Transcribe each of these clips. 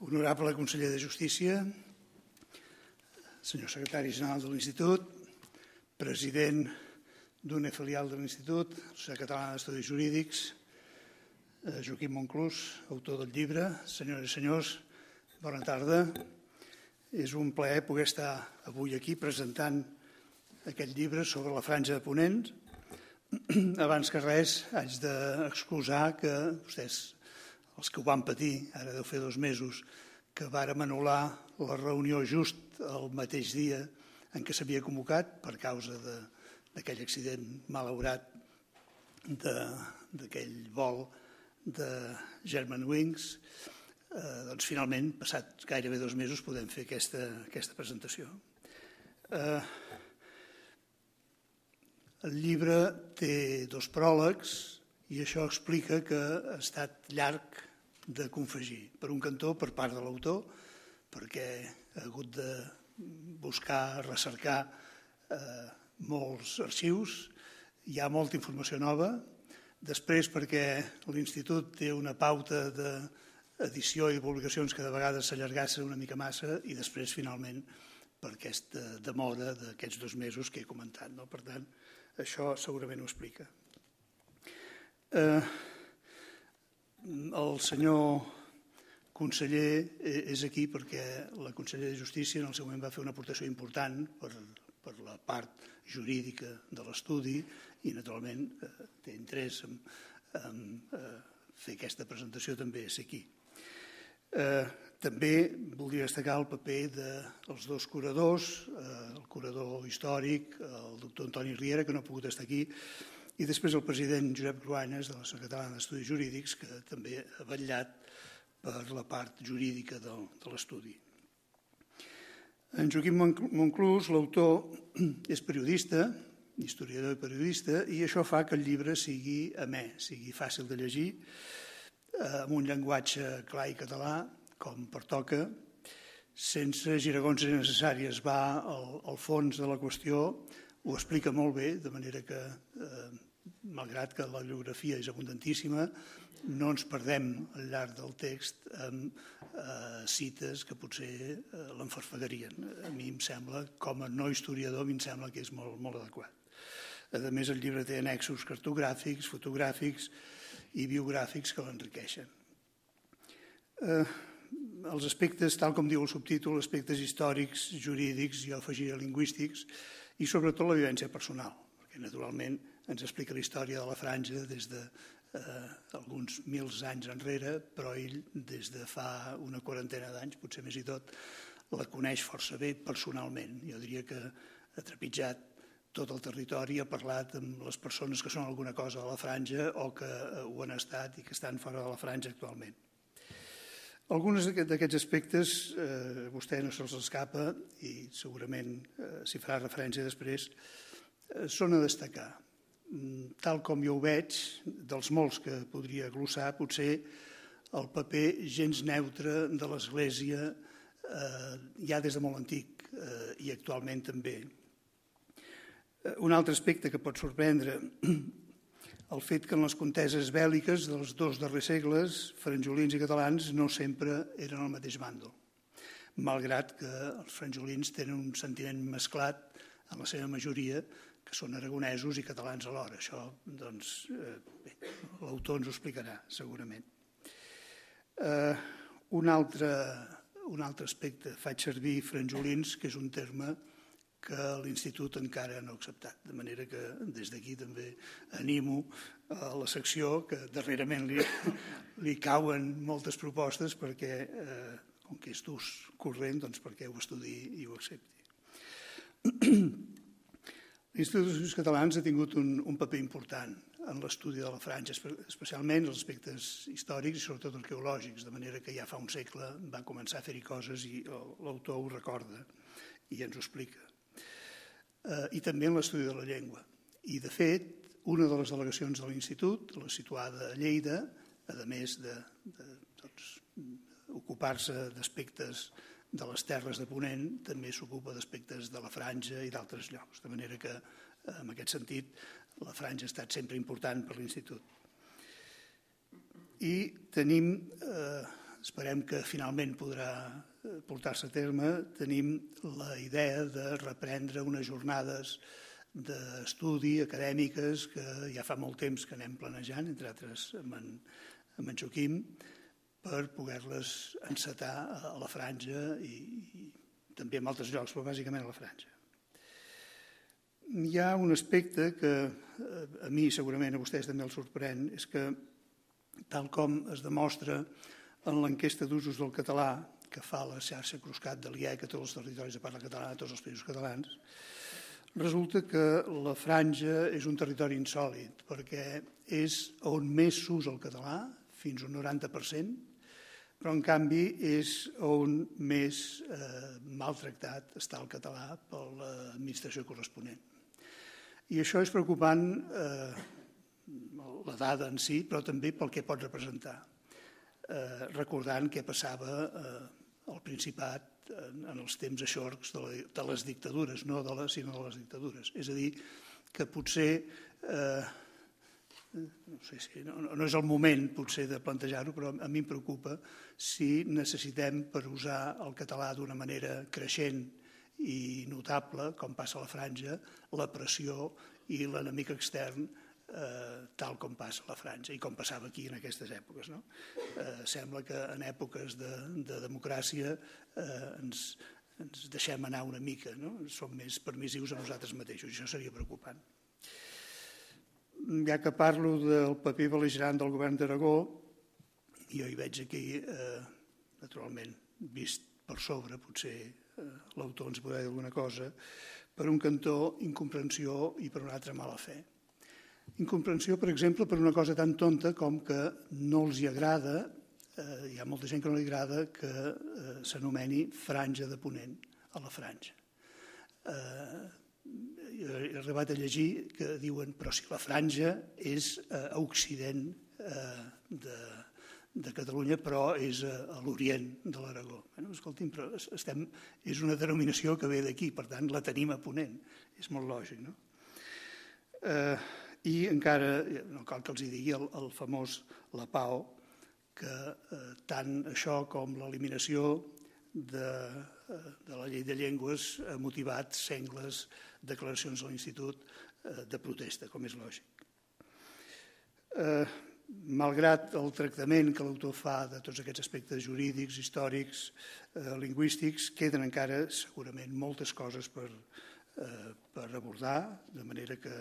Honorable conseller de Justícia, senyor secretari general de l'Institut, president d'una filial de l'Institut, Societat Catalana d'Estudis Jurídics, Joaquim Monclús, autor del llibre, senyores i senyors, bona tarda. És un plaer poder estar avui aquí presentant aquest llibre sobre la Franja de Ponent. Abans que res, haig d'excusar que vostès, els que ho van patir, ara deu fer 2 mesos, que vàrem anul·lar la reunió just el mateix dia en què s'havia convocat per causa d'aquell accident malaurat d'aquell vol de Germanwings. Doncs finalment, passat gairebé 2 mesos, podem fer aquesta presentació. El llibre té 2 pròlegs i això explica que ha estat llarg de confegir. Per un cantó, per part de l'autor, perquè ha hagut de buscar, recercar molts arxius, hi ha molta informació nova. Després, perquè l'Institut té una pauta d'edició i de publicacions que de vegades s'allargassa una mica massa, i després, finalment, per aquesta demora d'aquests 2 mesos que he comentat. Per tant, això segurament ho explica. El senyor conseller és aquí perquè la consellera de Justícia en el seu moment va fer una aportació important per la part jurídica de l'estudi i, naturalment, té interès en fer aquesta presentació també és aquí. També voldria destacar el paper dels 2 curadors, el curador històric, el doctor Antoni Riera, que no ha pogut estar aquí, i després el president Josep Cruanyes, de la Societat Catalana d'Estudis Jurídics, que també ha vetllat per la part jurídica de l'estudi. En Joaquim Monclús, l'autor, és periodista, historiador i periodista, i això fa que el llibre sigui amè, sigui fàcil de llegir, amb un llenguatge clar i català, com pertoca, sense giragonses innecessàries. Va al fons de la qüestió, ho explica molt bé, de manera que, malgrat que la bibliografia és abundantíssima, no ens perdem al llarg del text amb cites que potser l'enfarfagarien. A mi em sembla, com a no historiador, em sembla que és molt adequat. A més, el llibre té annexos cartogràfics, fotogràfics i biogràfics que l'enriqueixen. Els aspectes, tal com diu el subtítol, aspectes històrics, jurídics, jo afegiria lingüístics, i sobretot la vivència personal, perquè naturalment ens explica la història de la Franja des d'alguns 1000 anys enrere, però ell des de fa una 40ena d'anys, potser més i tot, la coneix força bé personalment. Jo diria que ha trepitjat tot el territori, ha parlat amb les persones que són alguna cosa de la Franja o que ho han estat i que estan fora de la Franja actualment. Alguns d'aquests aspectes a vostè no se'ls escapa i segurament s'hi farà referència després, són a destacar. Tal com jo ho veig, dels molts que podria glossar, potser el paper gens neutre de l'Església ja des de molt antic i actualment també. Un altre aspecte que pot sorprendre, el fet que en les conteses bèl·liques dels 2 darrers segles, franjolins i catalans no sempre eren al mateix bàndol, malgrat que els franjolins tenen un sentiment mesclat en la seva majoria, que són aragonesos i catalans alhora. Això, doncs, l'autor ens ho explicarà, segurament. Un altre aspecte, faig servir franjolins, que és un terme que l'Institut encara no ha acceptat, de manera que des d'aquí també animo a la secció, que darrerament li cauen moltes propostes perquè, com que és d'ús corrent, doncs perquè ho estudiï i ho accepti. L'Institut d'Estudis Catalans ha tingut un paper important en l'estudi de la Franja, especialment els aspectes històrics i sobretot arqueològics, de manera que ja fa un segle va començar a fer-hi coses i l'autor ho recorda i ens ho explica. I també en l'estudi de la llengua. I, de fet, una de les delegacions de l'Institut, la situada a Lleida, a més d'ocupar-se d'aspectes de les terres de Ponent, també s'ocupa d'aspectes de la Franja i d'altres llocs, de manera que, en aquest sentit, la Franja ha estat sempre important per l'Institut. I tenim esperem que finalment podrà portar-se a terme, tenim la idea de reprendre unes jornades d'estudi acadèmiques que ja fa molt temps que anem planejant, entre altres amb en Joaquim, per poder-les encetar a la Franja i també en altres llocs, però bàsicament a la Franja. Hi ha un aspecte que a mi segurament a vostès també els sorprèn, és que tal com es demostra en l'enquesta d'usos del català que fa la xarxa Cruscat de l'IEC a tots els territoris de parla catalana, a tots els països catalans, resulta que la Franja és un territori insòlit perquè és on més s'usa el català, fins un 90%, però en canvi és on més maltractat està el català per l'administració corresponent. I això és preocupant, la dada en si, però també pel que pot representar, recordant què passava al Principat en els temps eixorcs de les dictadures, no sinó de les dictadures. És a dir, que potser, no és el moment potser de plantejar-ho, però a mi em preocupa si necessitem, per usar el català d'una manera creixent i notable, com passa a la Franja, la pressió i l'enemic extern tal com passa a la Franja i com passava aquí en aquestes èpoques. Sembla que en èpoques de democràcia ens deixem anar una mica, som més permissius a nosaltres mateixos, i això seria preocupant. Ja que parlo del paper bel·ligerant del govern d'Aragó, jo hi veig aquí, naturalment, vist per sobre, potser l'autor ens podrà dir alguna cosa, per un cantó incomprensió i per un altre mala fe. Incomprensió, per exemple, per una cosa tan tonta com que no els agrada, hi ha molta gent que no li agrada que s'anomeni Franja de Ponent a la Franja. He arribat a llegir que diuen però si la Franja és a occident de Catalunya, però és a l'orient de l'Aragó. Escolti'm, però és una denominació que ve d'aquí, per tant la tenim a Ponent. És molt lògic, no? I encara, no cal que els digui el famós La Pau, que tant això com l'eliminació de la llei de llengües ha motivat sengles declaracions a l'Institut de protesta, com és lògic. Malgrat el tractament que l'autor fa de tots aquests aspectes jurídics, històrics, lingüístics, queden encara segurament moltes coses per abordar, de manera que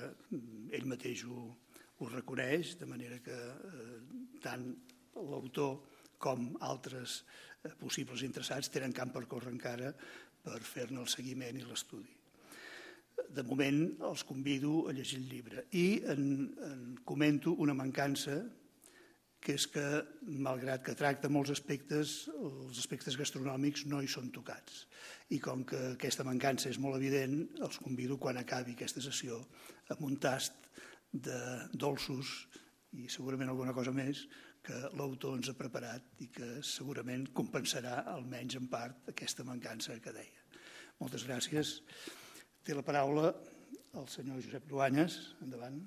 ell mateix ho reconeix, de manera que tant l'autor com altres possibles interessats tenen camp per córrer encara per fer-ne el seguiment i l'estudi. De moment els convido a llegir el llibre i en comento una mancança, que és que, malgrat que tracta molts aspectes, els aspectes gastronòmics no hi són tocats. I com que aquesta mancança és molt evident, els convido, quan acabi aquesta sessió, amb un tast de dolços i segurament alguna cosa més que l'autor ens ha preparat i que segurament compensarà, almenys en part, aquesta mancança que deia. Moltes gràcies. Té la paraula el senyor Josep Cruanyes. Endavant.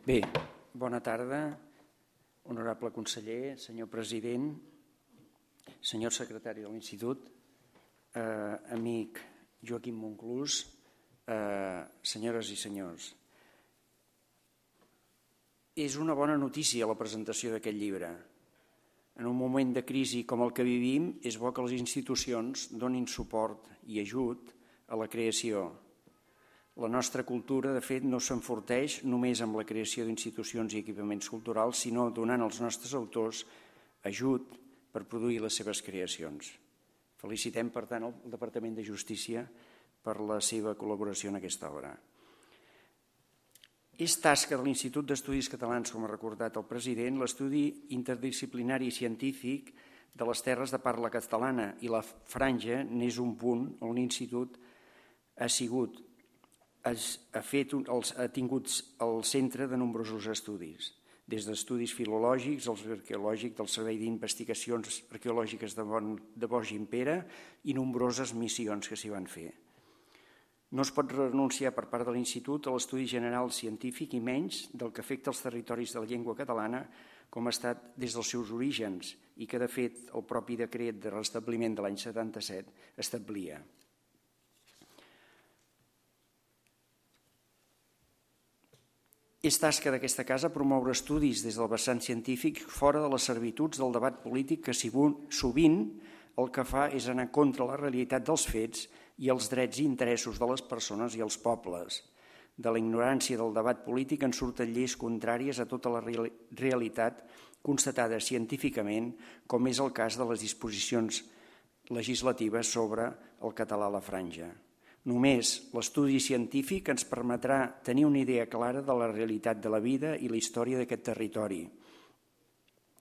Bé, bona tarda, honorable conseller, senyor president, senyor secretari de l'Institut, amic Joaquim Monclús, senyores i senyors. És una bona notícia la presentació d'aquest llibre. En un moment de crisi com el que vivim, és bo que les institucions donin suport i ajut a la creació. La nostra cultura, de fet, no s'enforteix només amb la creació d'institucions i equipaments culturals, sinó donant als nostres autors ajut per produir les seves creacions. Felicitem, per tant, el Departament de Justícia per la seva col·laboració en aquesta obra. És tasca de l'Institut d'Estudis Catalans, com ha recordat el president, l'estudi interdisciplinari i científic de les terres de parla catalana, i la Franja n'és un punt on l'Institut ha tingut el centre de nombrosos estudis, des d'estudis filològics als arqueològics del Servei d'Investigacions Arqueològiques de Boix i Impera i nombroses missions que s'hi van fer. No es pot renunciar per part de l'Institut a l'estudi general científic i menys del que afecta els territoris de la llengua catalana com ha estat des dels seus orígens i que, de fet, el propi decret de restabliment de l'any 77 establia. És tasca d'aquesta casa promoure estudis des del vessant científic fora de les servituds del debat polític que sovint el que fa és anar contra la realitat dels fets i els drets i interessos de les persones i els pobles. De la ignorància del debat polític en surten lleis contràries a tota la realitat constatada científicament, com és el cas de les disposicions legislatives sobre el català a la Franja. Només l'estudi científic ens permetrà tenir una idea clara de la realitat de la vida i la història d'aquest territori,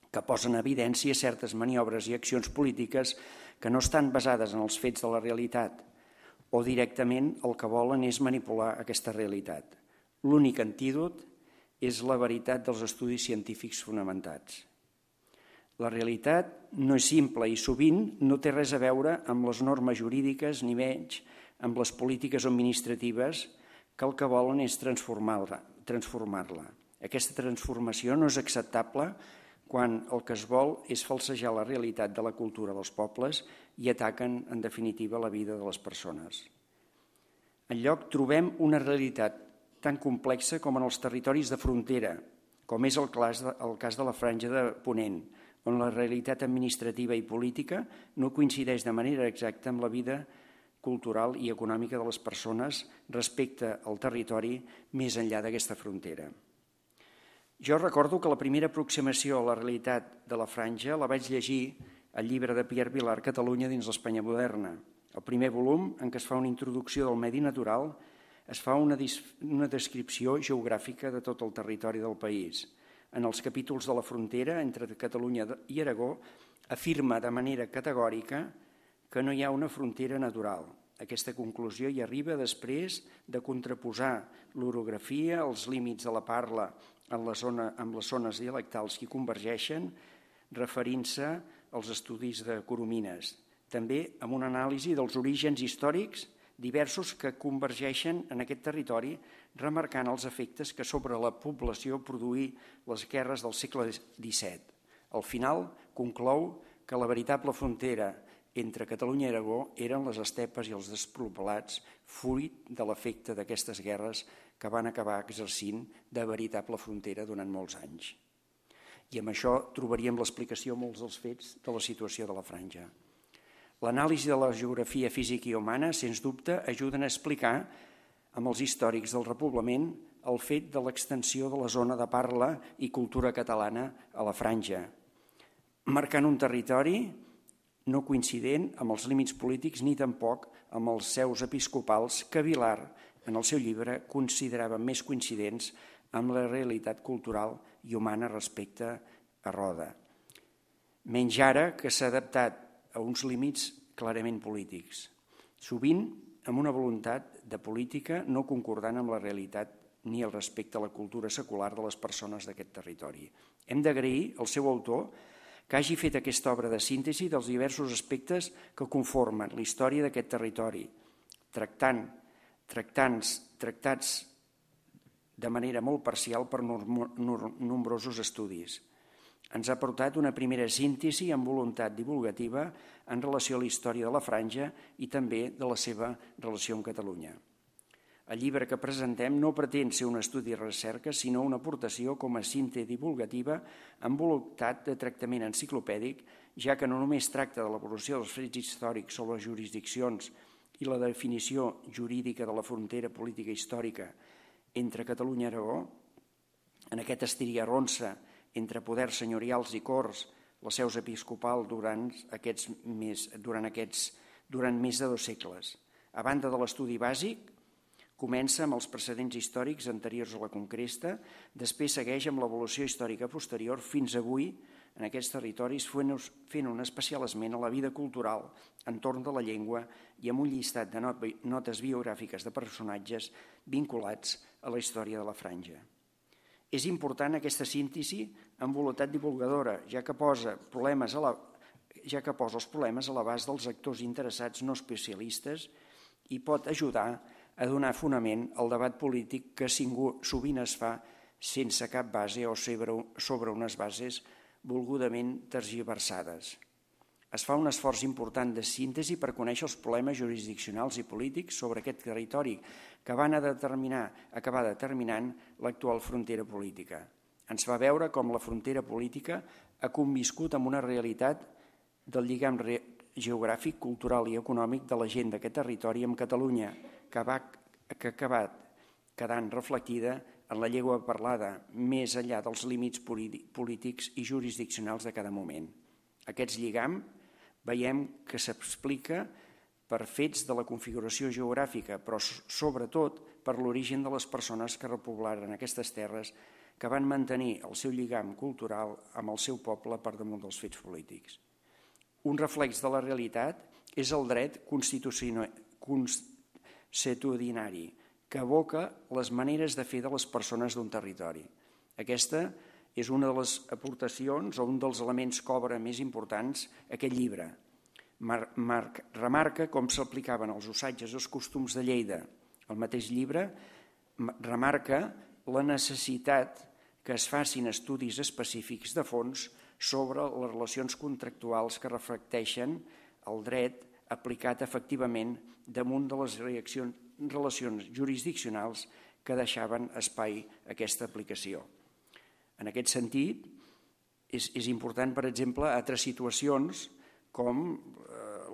que posa en evidència certes maniobres i accions polítiques que no estan basades en els fets de la realitat o directament el que volen és manipular aquesta realitat. L'únic antídot és la veritat dels estudis científics fonamentats. La realitat no és simple i sovint no té res a veure amb les normes jurídiques ni menys amb les polítiques administratives que el que volen és transformar-la. Aquesta transformació no és acceptable quan el que es vol és falsejar la realitat de la cultura dels pobles i ataquen, en definitiva, la vida de les persones. Enlloc trobem una realitat tan complexa com en els territoris de frontera, com és el cas de la Franja de Ponent, on la realitat administrativa i política no coincideix de manera exacta amb la vida cultural i econòmica de les persones respecte al territori més enllà d'aquesta frontera. Jo recordo que la primera aproximació a la realitat de la Franja la vaig llegir al llibre de Pierre Vilar, Catalunya dins l'Espanya moderna. El primer volum, en què es fa una introducció del medi natural, es fa una descripció geogràfica de tot el territori del país. En els capítols de la frontera entre Catalunya i Aragó afirma de manera categòrica que no hi ha una frontera natural. Aquesta conclusió hi arriba després de contraposar l'orografia, els límits de la parla amb les zones dialectals que convergeixen, referint-se als estudis de Coromines. També amb una anàlisi dels orígens històrics diversos que convergeixen en aquest territori, remarcant els efectes que sobre la població produí les guerres del segle XVII. Al final, conclou que la veritable frontera entre Catalunya i Aragó eren les estepes i els despoblats, fruit de l'efecte d'aquestes guerres que van acabar exercint de veritable frontera durant molts anys. I amb això trobaríem l'explicació a molts dels fets de la situació de la Franja. L'anàlisi de la geografia física i humana, sens dubte, ajuden a explicar amb els històrics del repoblament el fet de l'extensió de la zona de parla i cultura catalana a la Franja, marcant un territori no coincident amb els límits polítics ni tampoc amb els seus episcopals que Vilar, en el seu llibre, considerava més coincidents amb la realitat cultural i humana respecte a Roda. Menys ara que s'ha adaptat a uns límits clarament polítics, sovint amb una voluntat de política no concordant amb la realitat ni el respecte a la cultura secular de les persones d'aquest territori. Hem d'agrair al seu autor que hagi fet aquesta obra de síntesi dels diversos aspectes que conformen la història d'aquest territori, tractats de manera molt parcial per nombrosos estudis. Ens ha portat una primera síntesi amb voluntat divulgativa en relació a la història de la Franja i també de la seva relació amb Catalunya. El llibre que presentem no pretén ser un estudi de recerca, sinó una aportació com a síntesi divulgativa amb voluntat de tractament enciclopèdic, ja que no només tracta de l'evolució dels fets històrics sobre les jurisdiccions i la definició jurídica de la frontera política històrica entre Catalunya i Aragó, en aquest estiria-ronsa entre poders senyorials i corts, la seus episcopal durant més de 2 segles. A banda de l'estudi bàsic, comença amb els precedents històrics anteriors a la conquesta, després segueix amb l'evolució històrica posterior fins avui en aquests territoris fent un especial esment a la vida cultural entorn de la llengua i amb un llistat de notes biogràfiques de personatges vinculats a la història de la Franja. És important aquesta síntesi amb voluntat divulgadora, ja que posa els problemes a l'abast dels actors interessats no especialistes i pot ajudar a donar fonament al debat polític que sovint es fa sense cap base o sobre unes bases volgudament tergiversades. Es fa un esforç important de síntesi per conèixer els problemes jurisdiccionals i polítics sobre aquest territori que van acabar determinant l'actual frontera política. Ens va veure com la frontera política ha conviscut amb una realitat del lligam geogràfic, cultural i econòmic de la gent d'aquest territori amb Catalunya, que ha acabat quedant reflectida en la llengua parlada, més enllà dels límits polítics i jurisdiccionals de cada moment. Aquest lligam veiem que s'explica per fets de la configuració geogràfica, però sobretot per l'origen de les persones que repoblaren aquestes terres, que van mantenir el seu lligam cultural amb el seu poble per damunt dels fets polítics. Un reflex de la realitat és el dret consuetudinari, que evoca les maneres de fer de les persones d'un territori. Aquesta és una de les aportacions o un dels elements que obre més importants aquest llibre. Remarca com s'aplicaven els usatges i els costums de Lleida. El mateix llibre remarca la necessitat que es facin estudis específics de fons sobre les relacions contractuals que reflecteixen el dret aplicat efectivament damunt de les relacions jurisdiccionals que deixaven espai a aquesta aplicació. En aquest sentit, és important, per exemple, altres situacions com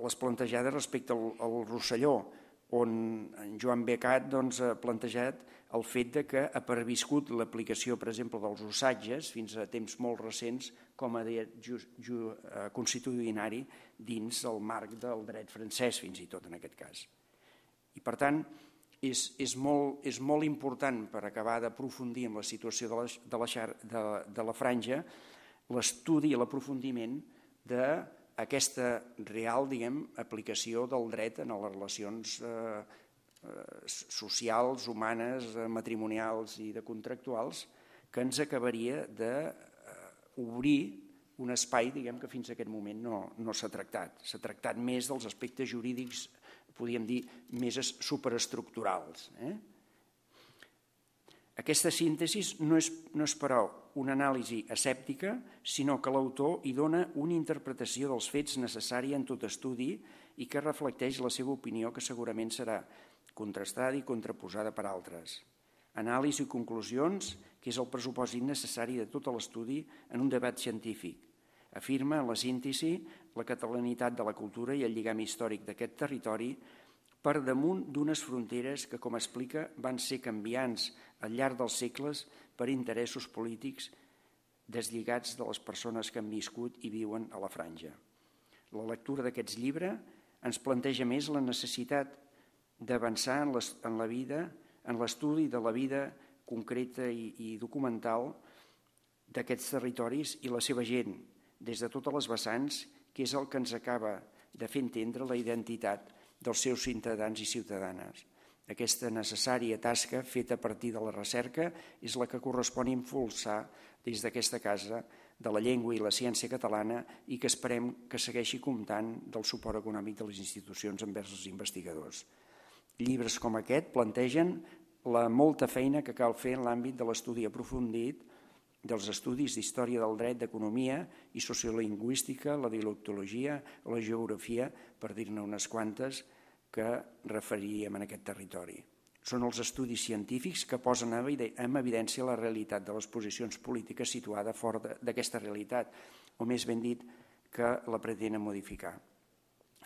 les plantejades respecte al Rosselló, on en Joan Becat ha plantejat el fet que ha perviscut l'aplicació, per exemple, dels usatges fins a temps molt recents com a dret consuetudinari dins el marc del dret francès, fins i tot en aquest cas. I, per tant, és molt important, per acabar d'aprofundir en la situació de la franja, l'estudi i l'aprofundiment d'aquesta real aplicació del dret en les relacions socials, humanes, matrimonials i de contractuals, que ens acabaria d'obrir un espai que fins a aquest moment no s'ha tractat. S'ha tractat més dels aspectes jurídics, podríem dir, més superestructurals. Aquesta síntesi no és però una anàlisi escèptica, sinó que l'autor hi dona una interpretació dels fets necessària en tot estudi i que reflecteix la seva opinió, que segurament serà contrastada i contraposada per altres. Anàlisi i conclusions, que és el pressupòsit necessari de tot l'estudi en un debat científic. Afirma en la síntesi la catalanitat de la cultura i el lligam històric d'aquest territori per damunt d'unes fronteres que, com explica, van ser canviants al llarg dels segles per interessos polítics deslligats de les persones que han viscut i viuen a la franja. La lectura d'aquest llibre ens planteja més la necessitat d'avançar en la vida, en l'estudi de la vida concreta i documental d'aquests territoris i la seva gent, des de totes les vessants, que és el que ens acaba de fer entendre la identitat dels seus ciutadans i ciutadanes. Aquesta necessària tasca feta a partir de la recerca és la que correspon impulsar des d'aquesta Casa de la Llengua i la Ciència Catalana i que esperem que segueixi comptant del suport econòmic de les institucions envers els investigadors. Llibres com aquest plantegen la molta feina que cal fer en l'àmbit de l'estudi aprofundit dels estudis d'història del dret, d'economia i sociolingüística, la dialectologia o la geografia, per dir-ne unes quantes, que referiríem en aquest territori. Són els estudis científics que posen en evidència la realitat de les posicions polítiques situada fora d'aquesta realitat, o més ben dit, que la pretenen modificar.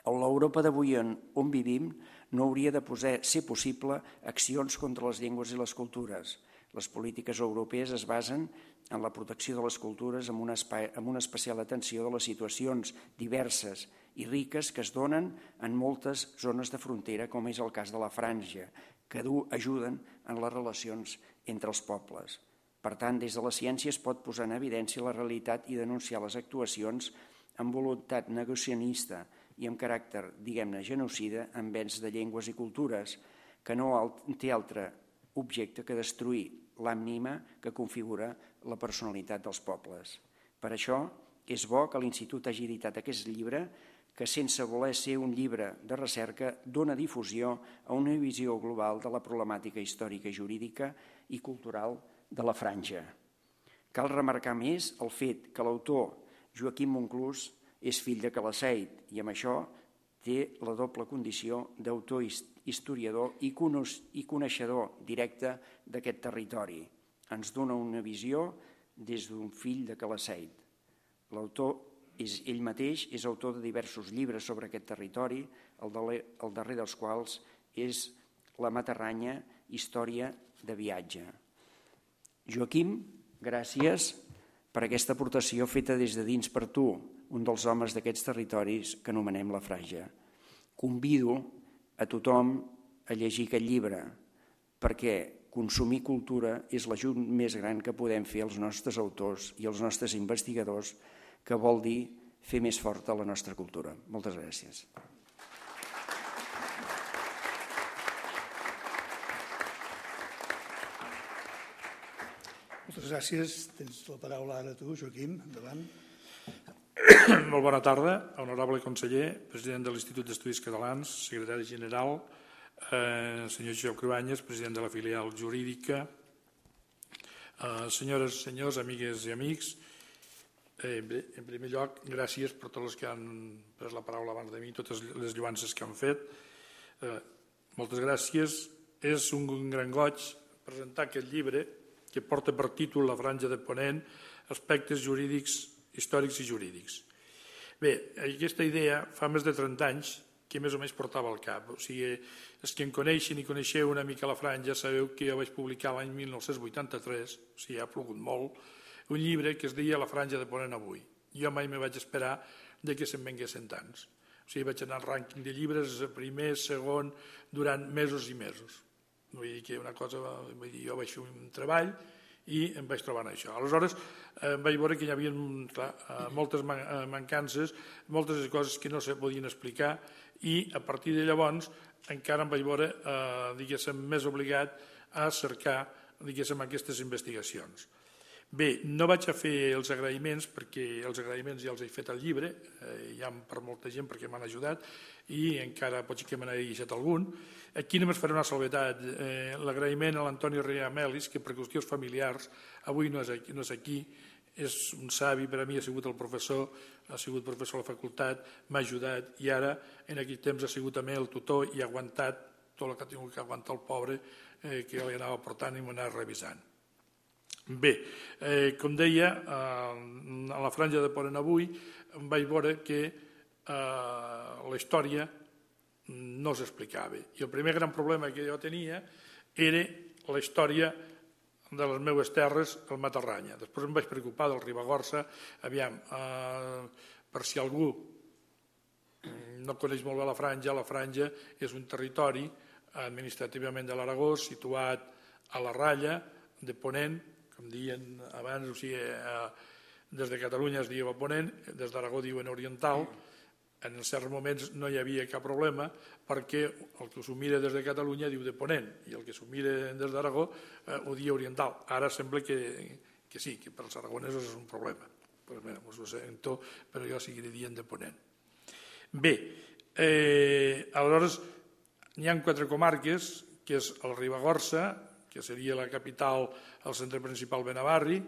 A l'Europa d'avui on vivim no hauria de ser possible accions contra les llengües i les cultures. Les polítiques europees es basen en la protecció de les cultures amb una especial atenció de les situacions diverses i riques que es donen en moltes zones de frontera, com és el cas de la Franja, que ajuden en les relacions entre els pobles. Per tant, des de la ciència es pot posar en evidència la realitat i denunciar les actuacions amb voluntat negacionista i amb caràcter, diguem-ne, genocida envers de llengües i cultures, que no té altre objecte que destruir l'ànima que configura la personalitat dels pobles. Per això és bo que l'Institut hagi editat aquest llibre que sense voler ser un llibre de recerca dona difusió a una visió global de la problemàtica històrica, jurídica i cultural de la Franja. Cal remarcar més el fet que l'autor Joaquim Monclús és fill de Calaceit i amb això té la doble condició d'autor historiador i coneixedor directe d'aquest territori. Ens dona una visió des d'un fill de Calaceit. L'autor ell mateix és autor de diversos llibres sobre aquest territori, el darrer dels quals és La Matarranya, història de viatge. Joaquim, gràcies per aquesta aportació feta des de dins per tu, un dels homes d'aquests territoris que anomenem la Franja. Convido a tothom a llegir aquest llibre, perquè consumir cultura és l'ajut més gran que podem fer als nostres autors i als nostres investigadors, que vol dir fer més forta la nostra cultura. Moltes gràcies. Moltes gràcies. Tens la paraula ara tu, Joaquim. Endavant. Molt bona tarda, honorable conseller, president de l'Institut d'Estudis Catalans, secretari general, senyor Josep Cruanyes, president de la filial jurídica, senyores i senyors, amigues i amics. En primer lloc, gràcies per tots els que han pres la paraula abans de mi, totes les lluances que han fet. Moltes gràcies. És un gran goig presentar aquest llibre que porta per títol La Franja de Ponent, aspectes jurídics, històrics i jurídics. Bé, aquesta idea fa més de 30 anys que més o menys portava al cap. O sigui, els que em coneixen i coneixeu una mica la Franja sabeu que jo vaig publicar l'any 1983, o sigui, ha plogut molt, un llibre que es deia La Franja de Ponent avui. Jo mai me vaig esperar que se'n venguessin tants. O sigui, vaig anar al rànquing de llibres, primer, segon, durant mesos i mesos. Vull dir que una cosa, jo vaig fer un treball i em vaig trobar en això. Aleshores, vaig veure que hi havia moltes mancances, moltes coses que no se podien explicar i a partir de llavors encara em vaig veure, diguéssim, més obligat a cercar, diguéssim, aquestes investigacions. Bé, no vaig a fer els agraïments perquè els agraïments ja els he fet al llibre, ja per molta gent perquè m'han ajudat i encara potser que me n'he deixat algun. Aquí només faré una salvetat. L'agraïment a l'Antoni Rea Melis, que per qüestions familiars avui no és aquí, és un savi, per a mi ha sigut el professor, ha sigut professor a la facultat, m'ha ajudat i ara en aquell temps ha sigut també el tutor i ha aguantat tot el que ha tingut que aguantar el pobre que li anava portant i m'ho anava revisant. Bé, com deia, a la Franja de Ponent avui vaig veure que la història no s'explicava. I el primer gran problema que jo tenia era la història de les meves terres, el Matarranya. Després em vaig preocupar del Ribagorça. Aviam, per si algú no coneix molt bé la Franja és un territori administrativament de l'Aragó situat a la ratlla de Ponent, com deien abans, o sigui, des de Catalunya es diu a Ponent, des d'Aragó diuen oriental. En certs moments no hi havia cap problema perquè el que s'ho mira des de Catalunya diu de Ponent i el que s'ho mira des d'Aragó ho diu oriental. Ara sembla que sí, que per als aragonesos és un problema. Pues mira, us ho sento, però jo seguiré dient de Ponent. Bé, aleshores hi ha 4 comarques, que és el Ribagorça, que seria la capital, el centre principal Benavarri,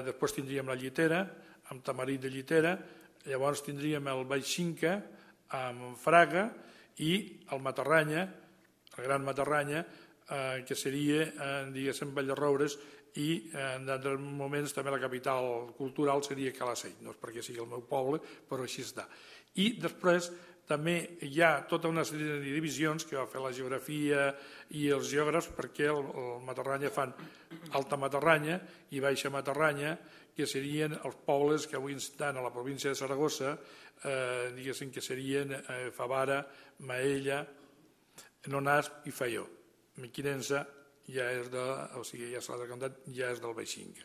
després tindríem la Llitera, amb Tamarit de Llitera, llavors tindríem el Baix Cinca, amb Fraga, i el Matarranya, el Gran Matarranya, que seria, diguéssim, Valldarroures, i en altres moments també la capital cultural seria Calaceit. No és perquè sigui el meu poble, però així està. I després també hi ha tota una sèrie de divisions que va fer la geografia i els geògrafs perquè el Matarranya fan Alta Matarranya i Baixa Matarranya, que serien els pobles que avui estan a la província de Saragossa, diguéssim que serien Favara, Maella, Nonasp i Faió. Mequinensa ja és del Baix Cinca.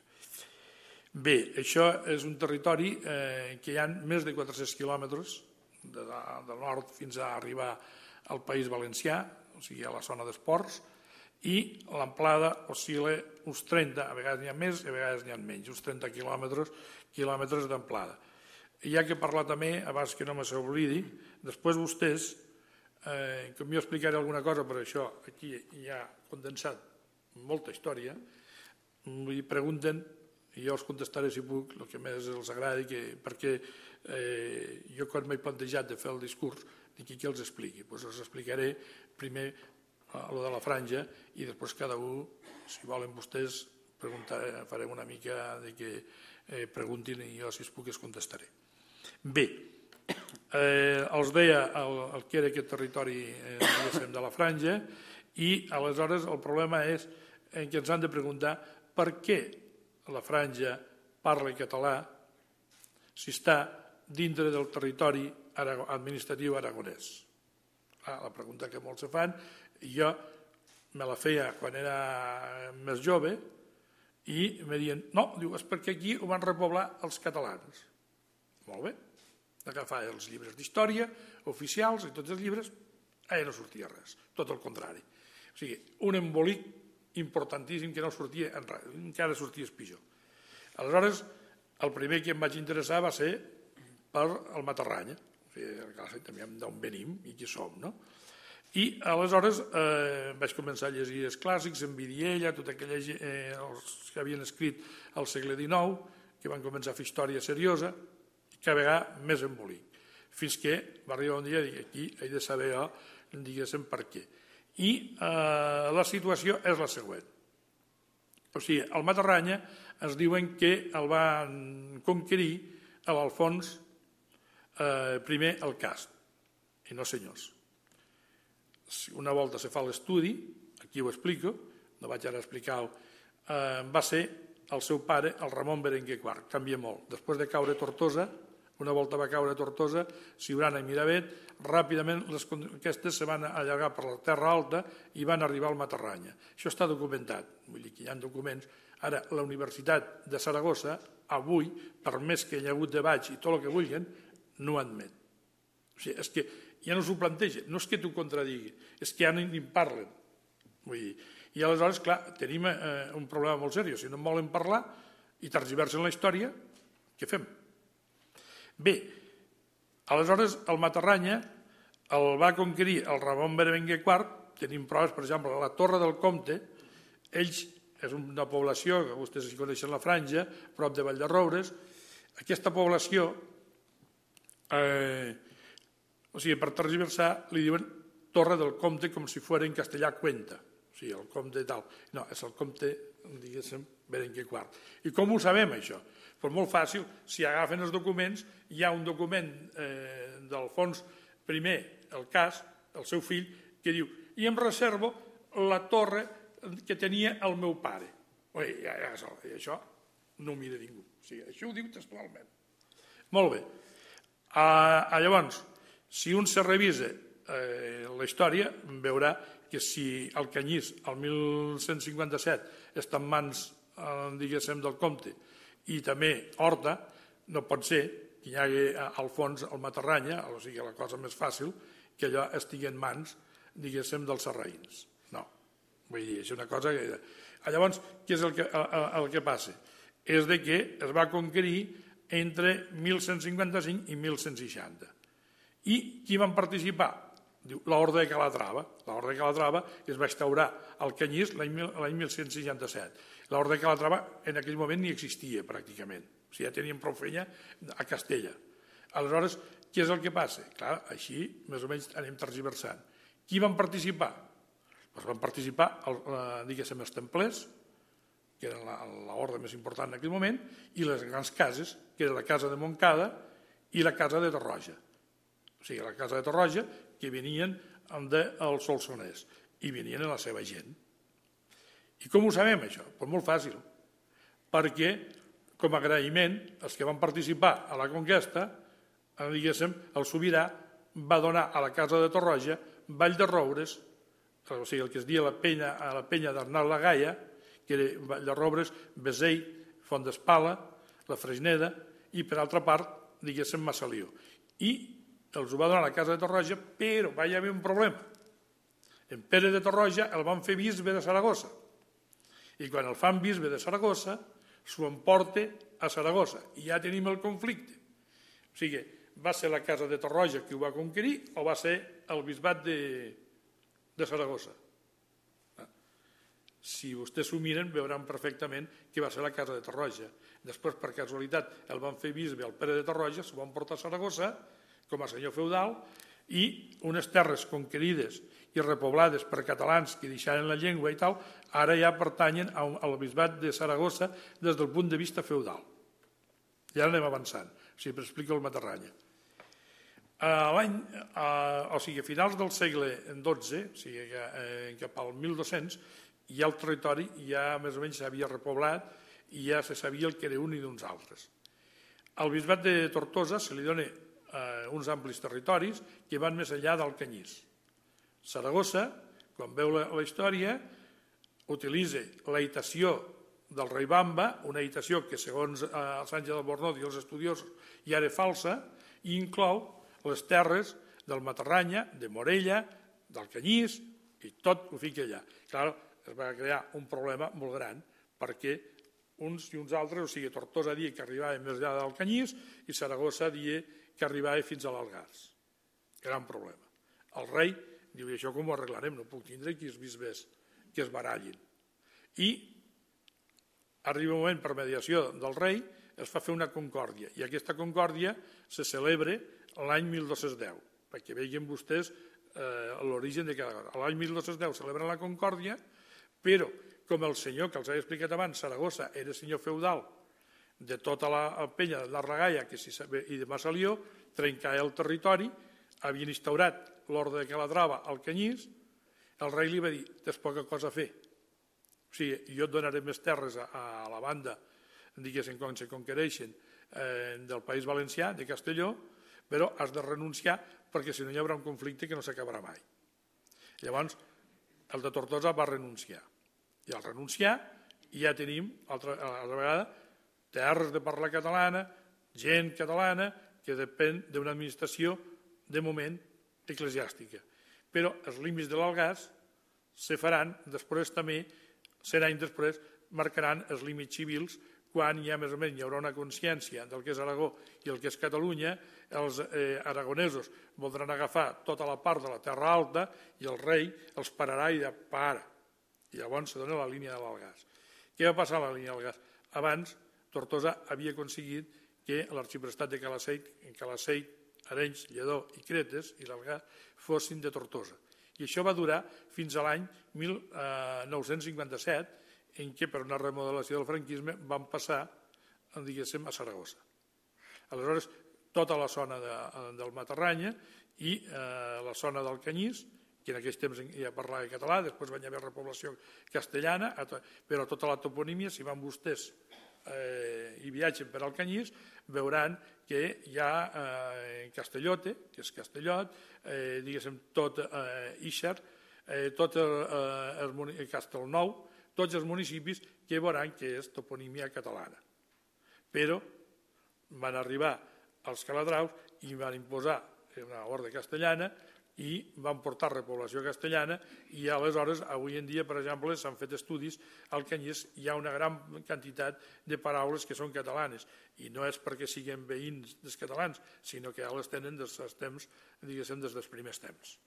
Bé, això és un territori que hi ha més de 400 quilòmetres del nord fins a arribar al País Valencià, o sigui, a la zona d'esports, i l'amplada oscil·la uns 30, a vegades n'hi ha més i a vegades n'hi ha menys, uns 30 quilòmetres d'amplada. hi ha que parlar també, abans que no me s'oblidi, després vostès, com jo explicaré alguna cosa, per això aquí hi ha condensat molta història, m'hi pregunten i jo els contestaré si puc el que més els agradi, perquè jo quan m'he plantejat de fer el discurs dic que els expliqui, doncs els explicaré primer el de la franja i després cada un, si volen vostès, farem una mica de que preguntin i jo si es puc els contestaré. Bé, els deia el que era aquest territori de la franja i aleshores el problema és que ens han de preguntar per què la franja parla català si està dintre del territori administratiu aragonès. La pregunta que molts se fan, jo me la feia quan era més jove i me diuen, no, és perquè aquí ho van repoblar els catalans. Molt bé, d'agafar els llibres d'història oficials i tots els llibres, allà no sortia res, tot el contrari. O sigui, un embolic importantíssim que no sortia en res, encara sortia pitjor. Aleshores, el primer que em vaig interessar va ser per el Matarranya, o sigui, també d'on venim i qui som, no? I aleshores vaig començar a llegir els clàssics, en Vidiella, tots aquells que havien escrit al segle XIX, que van començar a fer història seriosa, i cada vegada més embolic, fins que va arribar un dia i dic, aquí he de saber jo, diguéssim, per què. I la situació és la següent. O sigui, el Matarranya ens diuen que el van conquerir a l'Alfons primer el Cast. I no, senyors. Una volta se fa l'estudi, aquí ho explico, no vaig ara explicar-ho, va ser el seu pare, el Ramon Berenguer IV, canvia molt. Després de caure a Tortosa, una volta va caure a Tortosa, Siurana i Miravet, ràpidament les conquestes se van allargar per la Terra Alta i van arribar al Matarranya. Això està documentat, vull dir que hi ha documents. Ara, la Universitat de Saragossa, avui, per més que hi ha hagut debats i tot el que vulguin, no ho admet. O sigui, és que ja no s'ho planteja, no és que t'ho contradigui, és que ja ni en parlen. Vull dir, i aleshores, clar, tenim un problema molt seriós. Si no en volen parlar i tergiversen la història, què fem? Bé, aleshores el Matarranya el va conquerir el Ramon Berenguer IV, tenim proves, per exemple, a la Torre del Comte, ells és una població, que vostès hi coneixen la franja, prop de Valldarroures, aquesta població, o sigui, per tergiversar, li diuen Torre del Comte com si fos en castellà Cuenta, o sigui, el comte tal. No, és el comte, diguéssim, Berenguer IV. I com ho sabem, això? Doncs molt fàcil, si agafen els documents, hi ha un document d'Alfons I, el Cas, el seu fill, que diu, i em reservo la torre que tenia el meu pare. I això no ho mira ningú, o sigui, això ho diu textualment. Molt bé. Llavors, si un se revisa la història, veurà que si el Canyís, el 1157, està en mans, diguéssim, del comte, i també Horta, no pot ser que hi hagi al fons el Matarranya, o sigui, la cosa més fàcil, que allò estigui en mans, diguéssim, dels sarraïns. No, vull dir, és una cosa que... Llavors, què és el que passa? És de que es va conquerir entre 1155 i 1160. I qui van participar? Diu, l'Orde de Calatrava. L'Orde de Calatrava es va instaurar al Canyís l'any 1167. L'Orde de Calatrava en aquell moment ni existia pràcticament. O sigui, ja teníem prou feina a Castella. Aleshores, què és el que passa? Clar, així més o menys anem tergiversant. Qui van participar? Doncs van participar, diguéssim, els templers, que eren l'orde més important en aquell moment, i les grans cases, que era la casa de Montcada i la casa de Torroja. O sigui, la casa de Torroja, que venien del Solsonès, i venien a la seva gent. I com ho sabem, això? Doncs molt fàcil, perquè, com a agraïment, els que van participar a la conquesta, diguéssim, el sobirà va donar a la casa de Torroja Valldarroures, o sigui, el que es dia la penya d'Arnal la Gaia, que era Valldarroures, Besell, Font d'Espala, la Freixneda, i per altra part, diguéssim, Massalió. I els ho va donar a la casa de Torroja, però va haver un problema. En Pere de Torroja el van fer bisbe de Saragossa. I quan el fan bisbe de Saragossa, s'ho emporta a Saragossa. I ja tenim el conflicte. O sigui, va ser la casa de Torroja qui ho va conquerir o va ser el bisbat de Saragossa? Si vostès s'ho miren, veuran perfectament que va ser la casa de Torroja. Després, per casualitat, el van fer bisbe al Pere de Torroja, s'ho van portar a Saragossa com a senyor feudal, i unes terres conquerides i repoblades per catalans que deixaren la llengua i tal, ara ja pertanyen al bisbat de Saragossa des del punt de vista feudal. Ja anem avançant, o sigui, per explicar el Matarranya. O sigui, a finals del segle XII, o sigui, cap al 1200, ja el territori ja més o menys s'havia repoblat i ja se sabia el que era un i d'uns altres. Al bisbat de Tortosa se li dona uns amplis territoris que van més enllà del Canyís. Saragossa, quan veu la història, utilitza l'aitació del rei Bamba, una aitació que segons el Sánchez Albornoz i els estudiosos ja era falsa, i inclou les terres del Matarranya, de Morella, del Canyís, i tot ho fica allà. Clar, es va crear un problema molt gran, perquè uns i uns altres, o sigui, Tortosa dia que arribava més allà del Canyís i Saragossa dia que arribava fins a l'Algars. Gran problema. El rei diu, i això com ho arreglarem? No puc tindre aquí els bisbes que es barallin. I arriba un moment, per mediació del rei, es fa fer una concòrdia, i aquesta concòrdia se celebra l'any 1210, perquè vegin vostès l'origen de cada cosa. L'any 1210 celebren la concòrdia, però com el senyor que els he explicat abans, Saragossa, era senyor feudal de tota la penya de Larragaia i de Massalió, trencava el territori, havien instaurat l'ordre de Calatrava al Canyís, el rei li va dir, tens poca cosa a fer. O sigui, jo et donaré més terres a la banda, diguéssim, quan se conquereixen del País Valencià, de Castelló, però has de renunciar perquè si no hi haurà un conflicte que no s'acabarà mai. Llavors, el de Tortosa va renunciar. I al renunciar ja tenim, altra vegada, terres de parla catalana, gent catalana que depèn d'una administració, de moment, eclesiàstica. Però els límits de l'Algars se faran, després també, 100 anys després, marcaran els límits civils quan ja més o menys hi haurà una consciència del que és Aragó i el que és Catalunya, els aragonesos voldran agafar tota la part de la Terra Alta i el rei els pararà i dirà, para. I llavors se dona la línia de l'Algars. Què va passar a la línia de l'Algars? Abans, Tortosa havia aconseguit que l'arxiprestat de Calaceit, Arenys, Lledó i Cretes i l'Algars fossin de Tortosa. I això va durar fins a l'any 1957, en què per una remodelació del franquisme van passar, diguéssim, a Saragossa. Aleshores, tota la zona del Matarranya i la zona del Canyís, que en aquells temps ja parlava català, després va haver repoblació castellana, però tota la toponímia, si van vostès i viatgen per al Canyís, veuran que hi ha Castellote, que és Castellot, diguéssim, tot Ixar, tot Castelnou, tots els municipis que veuran que és toponímia catalana. Però van arribar als calatraus i van imposar una ordre castellana i van portar repoblació castellana i aleshores, avui en dia, per exemple, s'han fet estudis al Canyís, hi ha una gran quantitat de paraules que són catalanes i no és perquè siguin veïns dels catalans, sinó que ja les tenen des dels temps, diguéssim, des dels primers temps.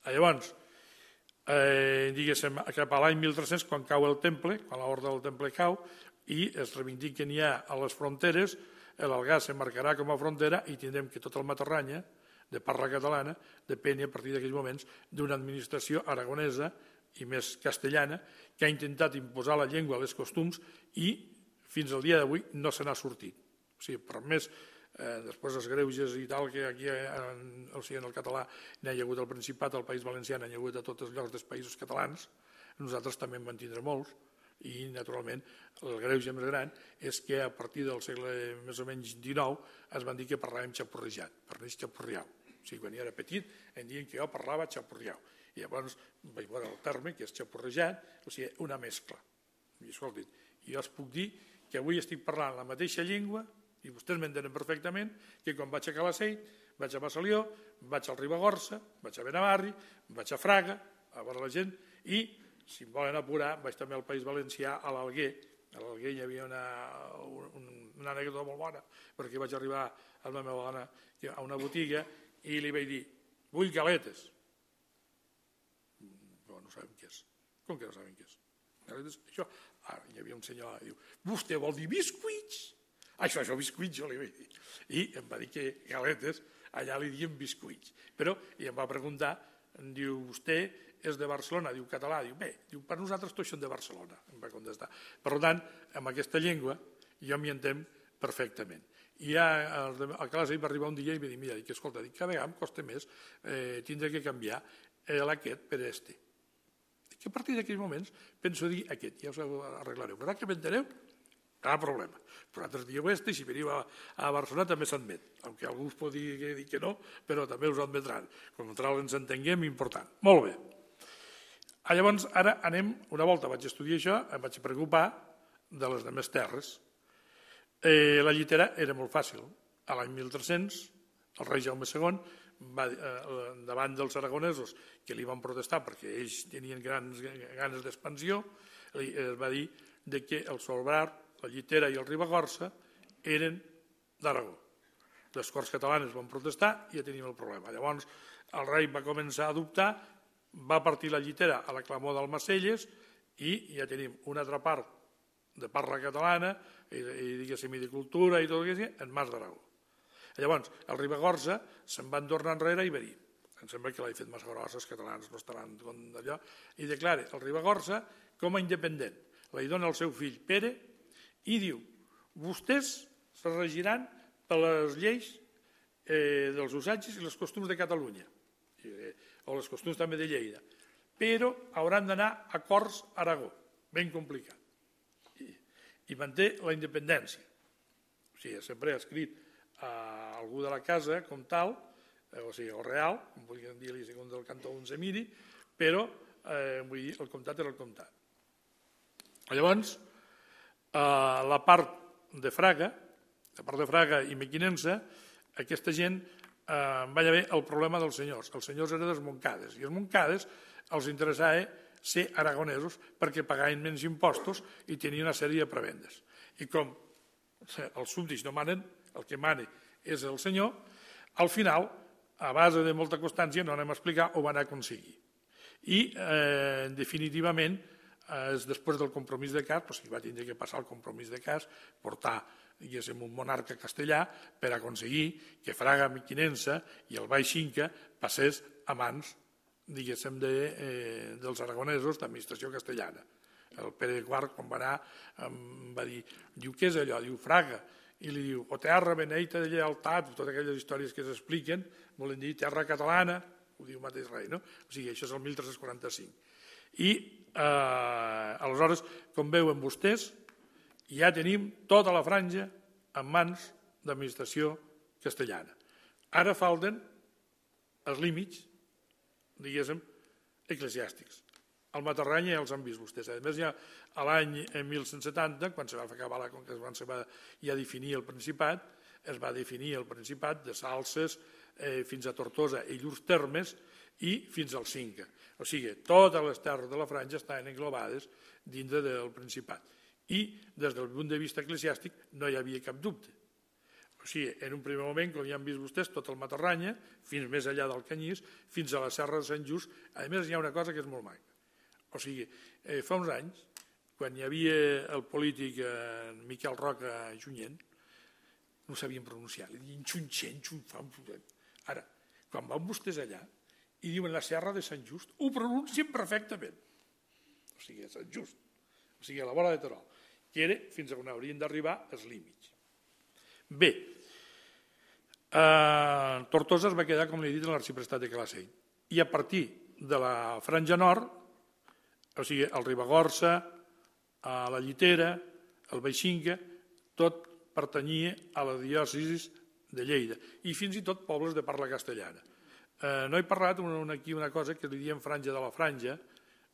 Llavors, diguéssim, cap a l'any 1300, quan cau el temple, quan l'ordre del temple cau, i es reivindiquen ja a les fronteres, l'Algars s'emmarcarà com a frontera i tindrem que tot el Matarranya, de parla catalana, depèn a partir d'aquells moments d'una administració aragonesa i més castellana que ha intentat imposar la llengua, els costums i fins al dia d'avui no se n'ha sortit. O sigui, per més, després els greuges i tal, que aquí en el català n'hi ha hagut al Principat, al País Valencià, n'hi ha hagut a tots els llocs dels països catalans, nosaltres també en van tindre molts, i naturalment el greuge més gran és que a partir del segle més o menys XIX es van dir que parlàvem xapurrejat, parlés xapurriau. O sigui, quan jo era petit em diuen que jo parlava xapurriau i llavors vaig veure el terme que és xapurrejat, o sigui, una mescla. I escolti, jo us puc dir que avui estic parlant la mateixa llengua i vostès m'entenen perfectament que quan vaig a Calaceit, vaig a Massalió, vaig al Ribagorça, vaig a Benavarri, vaig a Fraga, a veure la gent, i si em volen apurar, vaig també al País Valencià, a l'Alguer. A l'Alguer hi havia una anècdota molt bona, perquè vaig arribar amb la meva dona a una botiga i li vaig dir, vull galetes. Però no sabem què és. Com que no sabem què és? Galetes, això... Ara, hi havia un senyor que diu, vostè vol dir biscuits? Això biscuits, jo li vaig dir. I em va dir que galetes, allà li diem biscuits. Però, i em va preguntar, diu, vostè és de Barcelona, diu català, diu, bé, diu, per nosaltres tots són de Barcelona, em va contestar. Per tant, amb aquesta llengua jo m'hi entenc perfectament. I ja a classe va arribar un dia i va dir, mira, que escolta, cada vegada em costa més tindre que canviar aquest per este. Que a partir d'aquells moments penso dir aquest, ja us ho arreglareu. Però que m'enteneu? Cap problema. Però altres dieu este, si veniu a Barcelona també s'admet, aunque algú us pot dir que no, però també us admetran. Com ens entenguem, important. Molt bé. Llavors, ara anem, una volta vaig estudiar això, em vaig preocupar de les demés terres. La llitera era molt fàcil. A l'any 1300, el rei Jaume II, davant dels aragonesos que li van protestar perquè ells tenien ganes d'expansió, es va dir que el Solbrar, la Llitera i el Ribagorça eren d'Aragó. Les Corts Catalanes van protestar i ja teníem el problema. Llavors el rei va començar a dubtar, va partir la Llitera a la clamor d'Almacelles i ja tenim una altra part de parla catalana i diguéssim i de cultura i tot el que sigui en mans d'Aragó. Llavors, el Ribagorça se'n van tornar enrere i va dir, em sembla que l'ha fet massa grossa, els catalans no estaran d'allò, i declara el Ribagorça com a independent. La dona al seu fill Pere i diu, vostès se regiran per les lleis dels usatges i les costums de Catalunya, o les costums també de Lleida, però hauran d'anar a Corts Aragó, ben complicat. I manté la independència. O sigui, sempre ha escrit a algú de la casa com tal, o sigui, el real, com podríem dir-li segons el cantó d'un semiri, però vull dir, el comtat era el comtat. Llavors, la part de Fraga i Mequinensa, aquesta gent va haver el problema dels senyors. Els senyors eren dels Montcades, i els Montcades els interessava ser aragonesos perquè pagaven menys impostos i tenien una sèrie de prebendes. I com els súbdits no manen, el que mana és el senyor, al final, a base de molta constància, no anem a explicar, ho van aconseguir. I, definitivament, després del compromís de Cas, hi va tindre que passar el compromís de Cas, portar un monarca castellà per aconseguir que Fraga, Mequinensa i el Baix Cinca passés a mans, diguéssim, dels aragonesos d'administració castellana. El Pere IV, quan va anar, va dir, diu, què és allò? Diu, Fraga. I li diu, o terra beneita de lleialtat, totes aquelles històries que s'expliquen, volen dir terra catalana, ho diu mateix rei, no? O sigui, això és el 1345. I, aleshores, com veuen vostès, ja tenim tota la franja en mans d'administració castellana. Ara falten els límits, diguéssim, eclesiàstics. El Matarranya ja els han vist vostès. A més, ja a l'any 1170, quan se va acabar, quan se va ja definir el Principat, es va definir el Principat de Salses fins a Tortosa i llurs termes i fins al Cinca. O sigui, totes les terres de la franja estaven englobades dintre del Principat. I, des del punt de vista eclesiàstic, no hi havia cap dubte. O sigui, en un primer moment, com ja han vist vostès, tot el Matarranya, fins més enllà del Canyís, fins a la Serra de Sant Just. A més, hi ha una cosa que és molt maca. O sigui, fa uns anys, quan hi havia el polític Miquel Roca Junyent, no sabien pronunciar, li diuen xunxent, xunfam. Ara, quan van vostès allà i diuen la Serra de Sant Just, ho pronuncien perfectament. O sigui, a Sant Just, o sigui, a la vora de Terol, que era fins on haurien d'arribar els límits. Bé, Tortosa es va quedar, com li he dit, en l'arxiprestat de Calacell. I a partir de la franja nord, o sigui, el Ribagorça, la Llitera, el Baix Cinca, tot pertanyia a la diòcesi de Lleida i fins i tot pobles de parla castellana. No he parlat aquí una cosa que li diem franja de la franja.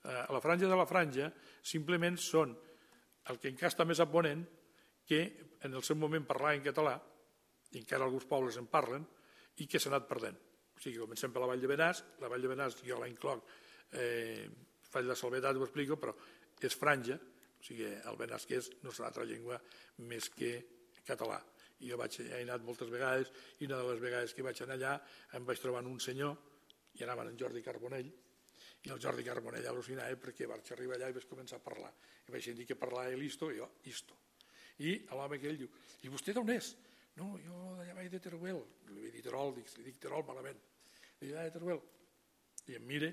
La franja de la franja simplement són el que encara està més a ponent, que en el seu moment parlava en català, i encara alguns pobles en parlen, i que s'ha anat perdent. O sigui, comencem per la Vall de Benàs, la Vall de Benàs jo la incloc, faig la salvetat, ho explico, però és franja, o sigui, el benasquès no és una altra llengua més que català. I jo he anat moltes vegades, i una de les vegades que vaig anar allà em vaig trobar un senyor, i anaven en Jordi Carbonell, i el Jordi Carbonell al·lucinava perquè vaig arribar allà i vaig començar a parlar. I vaig dir que parlava listo, i jo, isto. I l'home aquell diu, i vostè d'on és? No, jo d'allà vaig de Teruel. Li vaig dir Terol, li dic Terol malament. Li dic, de Teruel. I em mira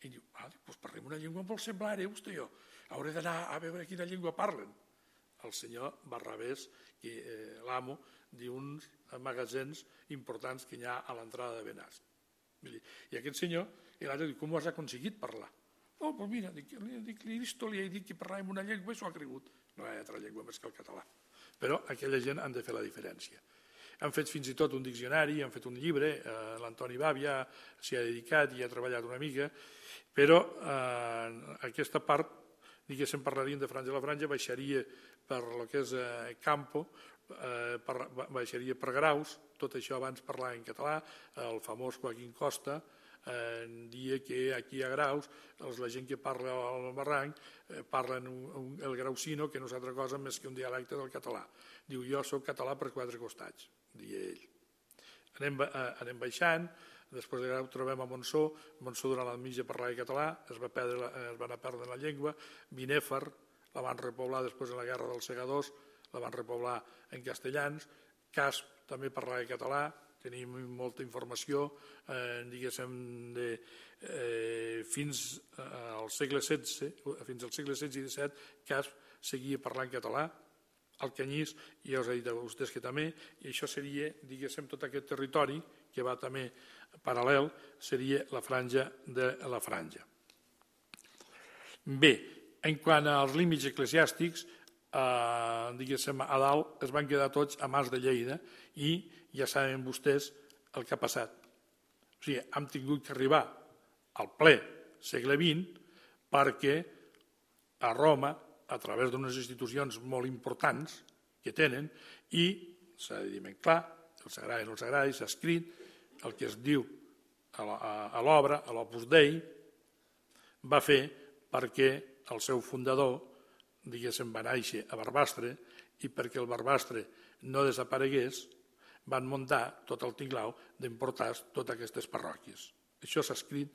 i diu, doncs parlem una llengua molt semblant, vostè i jo. Hauré d'anar a veure quina llengua parlen. El senyor Barrabés, l'amo d'uns magatzems importants que hi ha a l'entrada de Benàs. I aquest senyor, i l'altre diu, com ho has aconseguit parlar? Oh, doncs mira, li he dit que parlàvem una llengua i s'ho ha cregut. No hi ha altra llengua més que el català. Però aquella gent han de fer la diferència. Han fet fins i tot un diccionari, han fet un llibre, l'Antoni Bàbia s'hi ha dedicat i ha treballat una mica, però aquesta part, diguéssim, parlaríem de Franja a la Franja, baixaria per el que és Campo, baixaria per Graus, tot això abans parlava en català, el famós Joaquín Costa dia que aquí a Graus la gent que parla al barranc parlen el grausino, que no és altra cosa més que un dialecte del català. Diu, jo soc català per 4 costats, deia ell. Anem baixant, després de Grau trobem a Montsó. Montsó durant la mitja parlava català, es va anar perdent la llengua. Binèfar la van repoblar després de la guerra dels segadors, la van repoblar en castellans. Casp també parlava català, tenim molta informació, diguéssim, fins al segle XVI, fins al segle XVI i XVII, Casp seguia parlant català. Alcanyís, ja us he dit a vostès que també, i això seria, diguéssim, tot aquest territori que va també paral·lel, seria la Franja de la Franja. Bé, en quant als límits eclesiàstics, diguéssim, a dalt es van quedar tots a mans de Lleida i ja saben vostès el que ha passat. O sigui, hem tingut que arribar al ple segle XX perquè a Roma, a través d'unes institucions molt importants que tenen, i s'ha de dir ben clar, els agradi o no els agradi, s'ha escrit el que es diu a l'obra, a l'Opus Dei, va fer perquè el seu fundador, diguéssim, va néixer a Barbastre, i perquè el Barbastre no desaparegués, van muntar tot el tinglau d'importar totes aquestes parròquies. Això s'ha escrit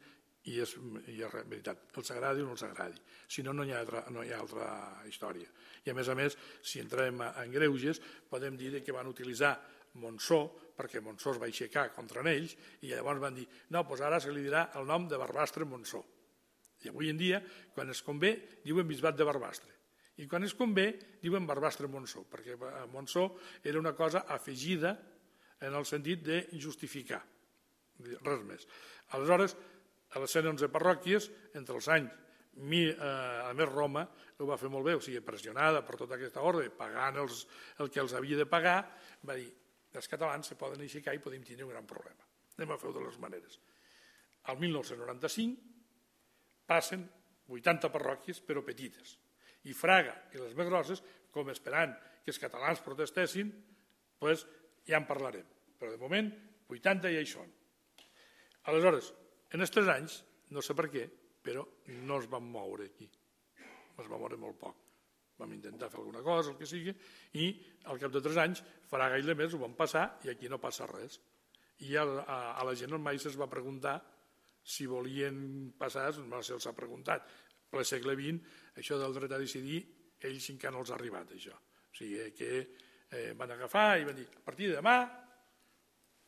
i és veritat, els agradi o no els agradi. Si no, no hi ha altra història. I a més, si entrem en greuges, podem dir que van utilitzar Montsó, perquè Montsó es va aixecar contra ells, i llavors van dir, no, doncs ara se li dirà el nom de Barbastre Montsó. I avui en dia, quan es convé, diuen Bisbat de Barbastre. I quan es convé, diuen Barbastre Montsó, perquè Montsó era una cosa afegida en el sentit de justificar, res més. Aleshores, a les 111 parròquies, entre els anys, a més Roma ho va fer molt bé, o sigui, pressionada per tota aquesta ordre, pagant el que els havia de pagar, va dir, els catalans se poden aixecar i podem tenir un gran problema. Anem a fer-ho de les maneres. Al 1995 passen 80 parròquies, però petites, i Fraga i les més grosses, com esperant que els catalans protestessin, doncs ja en parlarem. Però de moment, 80 ja hi són. Aleshores, en els 3 anys, no sé per què, però no es van moure aquí. Es va moure molt poc. Vam intentar fer alguna cosa, el que sigui, i al cap de 3 anys, Fraga i Lemés ho van passar i aquí no passa res. I a la gent mai se'ls va preguntar si volien passar, no se'ls ha preguntat. Per al segle XX, això del dret a decidir, ells encara no els ha arribat, això. O sigui que van agafar i van dir, a partir de demà,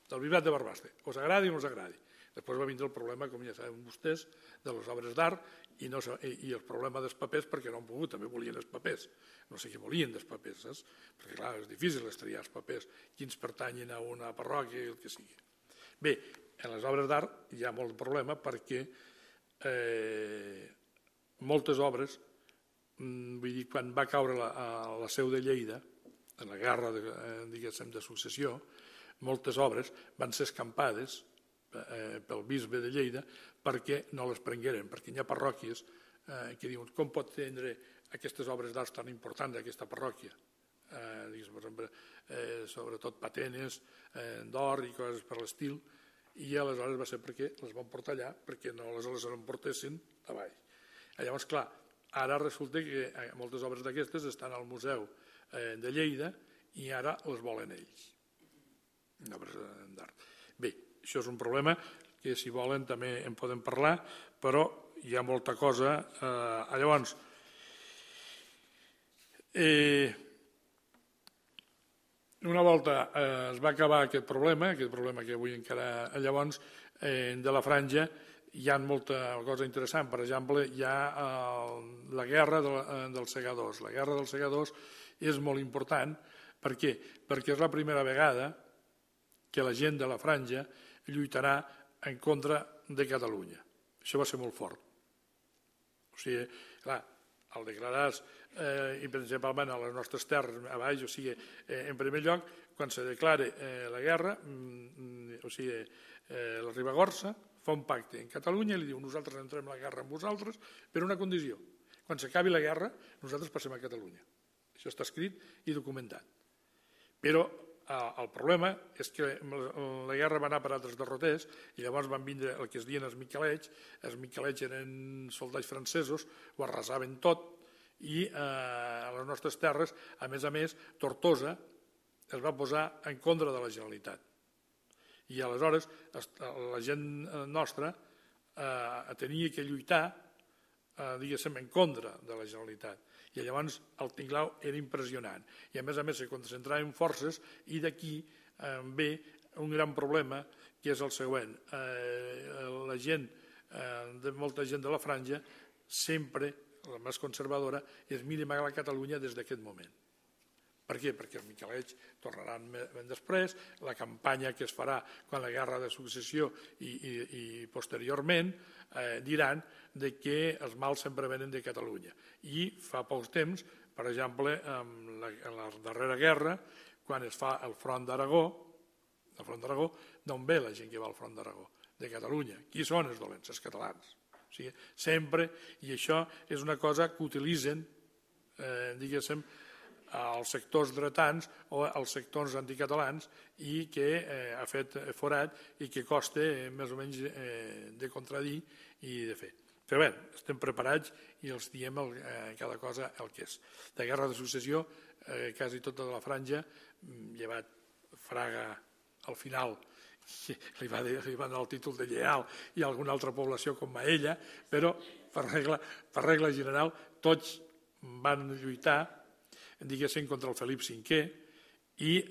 del Bisbat de Barbastre, us agradi o no us agradi. Després va vindre el problema, com ja saben vostès, de les obres d'art i el problema dels papers, perquè no han pogut, també volien els papers. No sé què volien dels papers, saps? Perquè, clar, és difícil estriar els papers, quins pertanyen a una parròquia i el que sigui. Bé, en les obres d'art hi ha molt problema perquè moltes obres, vull dir, quan va caure la seu de Lleida, en la guerra, diguéssim, de successió, moltes obres van ser escampades pel bisbe de Lleida perquè no les prengueren, perquè hi ha parròquies que diuen com pot tindre aquestes obres d'art tan importants aquesta parròquia, per exemple, sobretot patenes d'or i coses per l'estil, i aleshores va ser perquè les van portar allà perquè no les emportessin avall. Llavors, clar, ara resulta que moltes obres d'aquestes estan al Museu de Lleida i ara les volen ells. Bé, això és un problema que si volen també en podem parlar, però hi ha molta cosa. Llavors, una volta es va acabar aquest problema que avui encara llavors, de la franja, hi ha molta cosa interessant. Per exemple, hi ha la guerra dels segadors. La guerra dels segadors és molt important. Per què? Perquè és la primera vegada que la gent de la franja lluitarà en contra de Catalunya. Això va ser molt fort. O sigui, clar, al declarar-se, i principalment a les nostres terres a baix, o sigui, en primer lloc, quan se declara la guerra, o sigui, la Ribagorça fa un pacte en Catalunya i li diu nosaltres entrem a la guerra amb vosaltres per una condició. Quan s'acabi la guerra, nosaltres passem a Catalunya. Això està escrit i documentat. Però el problema és que la guerra va anar per altres derroters i llavors van vindre el que es diuen els Miquelets. Els Miquelets eren soldats francesos, ho arrasaven tot i a les nostres terres, a més, Tortosa es va posar en contra de la Generalitat. I aleshores la gent nostra tenia que lluitar, diguéssim, en contra de la Generalitat. I llavors el tinglau era impressionant. I a més se concentraven forces i d'aquí ve un gran problema que és el següent. La gent, molta gent de la franja, sempre, la més conservadora, es mira a la Catalunya des d'aquest moment. Per què? Perquè els Miquelets tornaran ben després, la campanya que es farà quan la guerra de successió i posteriorment diran que els mals sempre venen de Catalunya. I fa pocs temps, per exemple, en la darrera guerra, quan es fa el front d'Aragó, d'on ve la gent que va al front d'Aragó? De Catalunya. Qui són els dolents? Els catalans. O sigui, sempre, i això és una cosa que utilitzen, diguéssim, als sectors dretans o als sectors anticatalans i que ha fet forat i que costa més o menys de contradir i de fer. Però bé, estem preparats i els diem cada cosa el que és. De guerra de successió, quasi tota la franja, llevat Fraga al final, li va donar el títol de lleial i alguna altra població com Maella, però per regla general tots van lluitar, diguéssim, contra el Felip V, i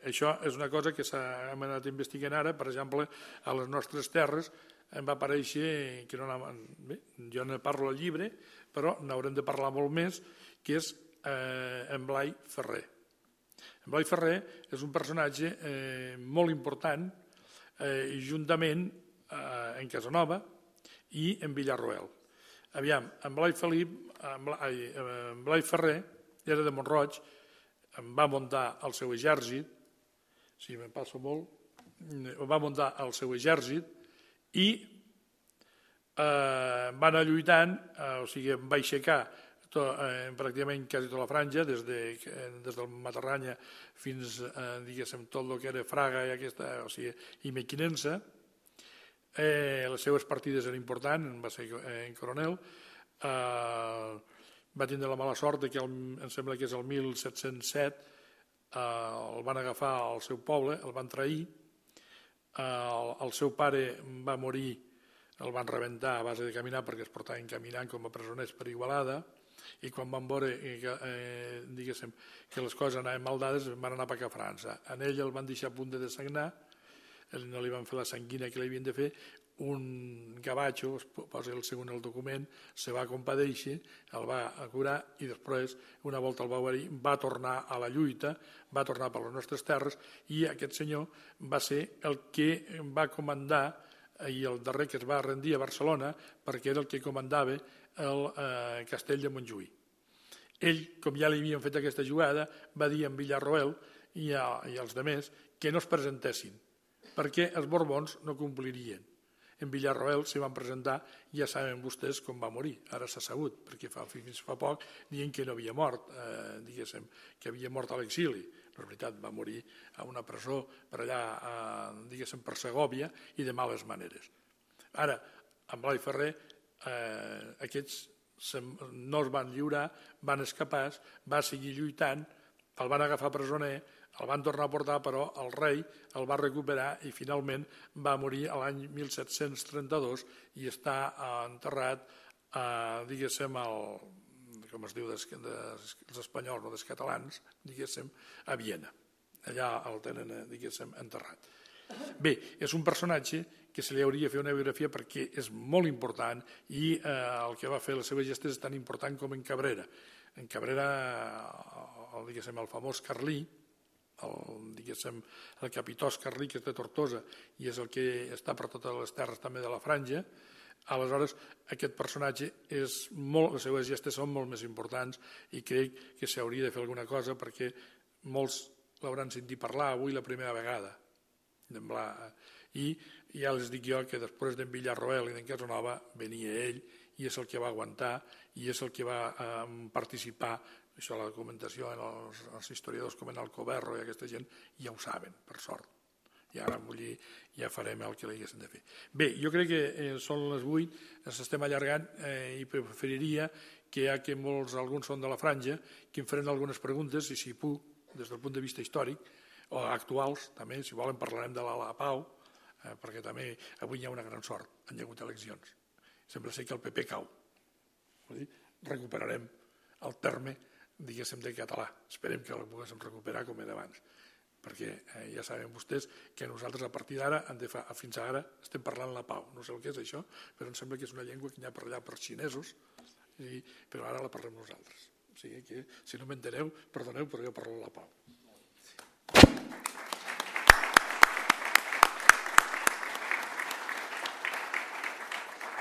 això és una cosa que hem anat investigant ara. Per exemple, a les nostres terres em va aparèixer, que jo ne parlo al llibre, però n'haurem de parlar molt més, que és en Blai Ferrer. En Blai Ferrer és un personatge molt important, juntament en Casanova i en Villarroel. Aviam, en Blai Ferrer era de Mont-roig, va muntar el seu exèrcit, si me'n passo molt, va muntar el seu exèrcit i va anar lluitant, o sigui, va aixecar pràcticament quasi tota la franja, des del Matarranya fins, diguéssim, tot el que era Fraga i aquesta, o sigui, i Mequinensa. Les seves partides eren importants, va ser en coronel, va tindre la mala sort que em sembla que és el 1707 el van agafar al seu poble, el van trair, el seu pare va morir, el van rebentar a base de caminar perquè es portaven caminant com a presoners per Igualada, i quan van veure diguéssim, que les coses anaven mal dades van anar cap a França. En ell el van deixar a punt de desagnar, no li van fer la sanguina que li havien de fer. Un gavatxo, es posa el segon el document, se va compadeixer, el va curar i després, una volta el va guarir, va tornar a la lluita, va tornar per les nostres terres i aquest senyor va ser el que va comandar i el darrer que es va rendir a Barcelona perquè era el que comandava el castell de Montjuïc. Ell, com ja li havien fet aquesta jugada, va dir a Villarroel i als altres que no es presentessin perquè els Borbons no complirien. En Villarroel s'hi van presentar, ja saben vostès com va morir, ara s'ha sabut, perquè fins fa poc diuen que no havia mort, diguéssim, que havia mort a l'exili. No és veritat, va morir a una presó per allà, diguéssim, per Segòvia i de males maneres. Ara, amb Blai Ferrer, aquests no es van lliurar, van escapar, va seguir lluitant el van agafar presoner, el van tornar a portar, però el rei el va recuperar i finalment va morir l'any 1732 i està enterrat, diguéssim, com es diu dels espanyols o dels catalans, diguéssim, a Viena. Allà el tenen, diguéssim, enterrat. Bé, és un personatge que se li hauria de fer una biografia perquè és molt important i el que va fer les seves gestes és tan important com en Cabrera. En Cabrera, diguéssim, el famós Carlí, el capitós Carlí, que és de Tortosa i és el que està per totes les terres també de la Franja, aleshores aquest personatge, les seves gestes són molt més importants i crec que s'hauria de fer alguna cosa perquè molts l'hauran sentit parlar avui la primera vegada. I ja els dic jo que després d'en Villarroel i d'en Casanova venia ell i és el que va aguantar i és el que va participar. Això la documentació els historiadors com en Alcoberro i aquesta gent ja ho saben, per sort. I ara ja farem el que li haguéssim de fer. Bé, jo crec que són les 8, ens estem allargant i preferiria que ja que alguns són de la Franja, que em faran algunes preguntes i si puc, des del punt de vista històric, o actuals, també, si volen parlarem de la Pau, perquè també avui hi ha una gran sort, han hi hagut eleccions. Sembla ser que el PP cau. Recuperarem el terme, diguéssim, de català. Esperem que el poguéssim recuperar com era abans, perquè ja saben vostès que nosaltres a partir d'ara, fins ara, estem parlant la Pau. No sé el que és això, però em sembla que és una llengua que hi ha per allà per xinesos, però ara la parlem nosaltres. O sigui que, si no m'enteneu, perdoneu, però jo parlo la Pau.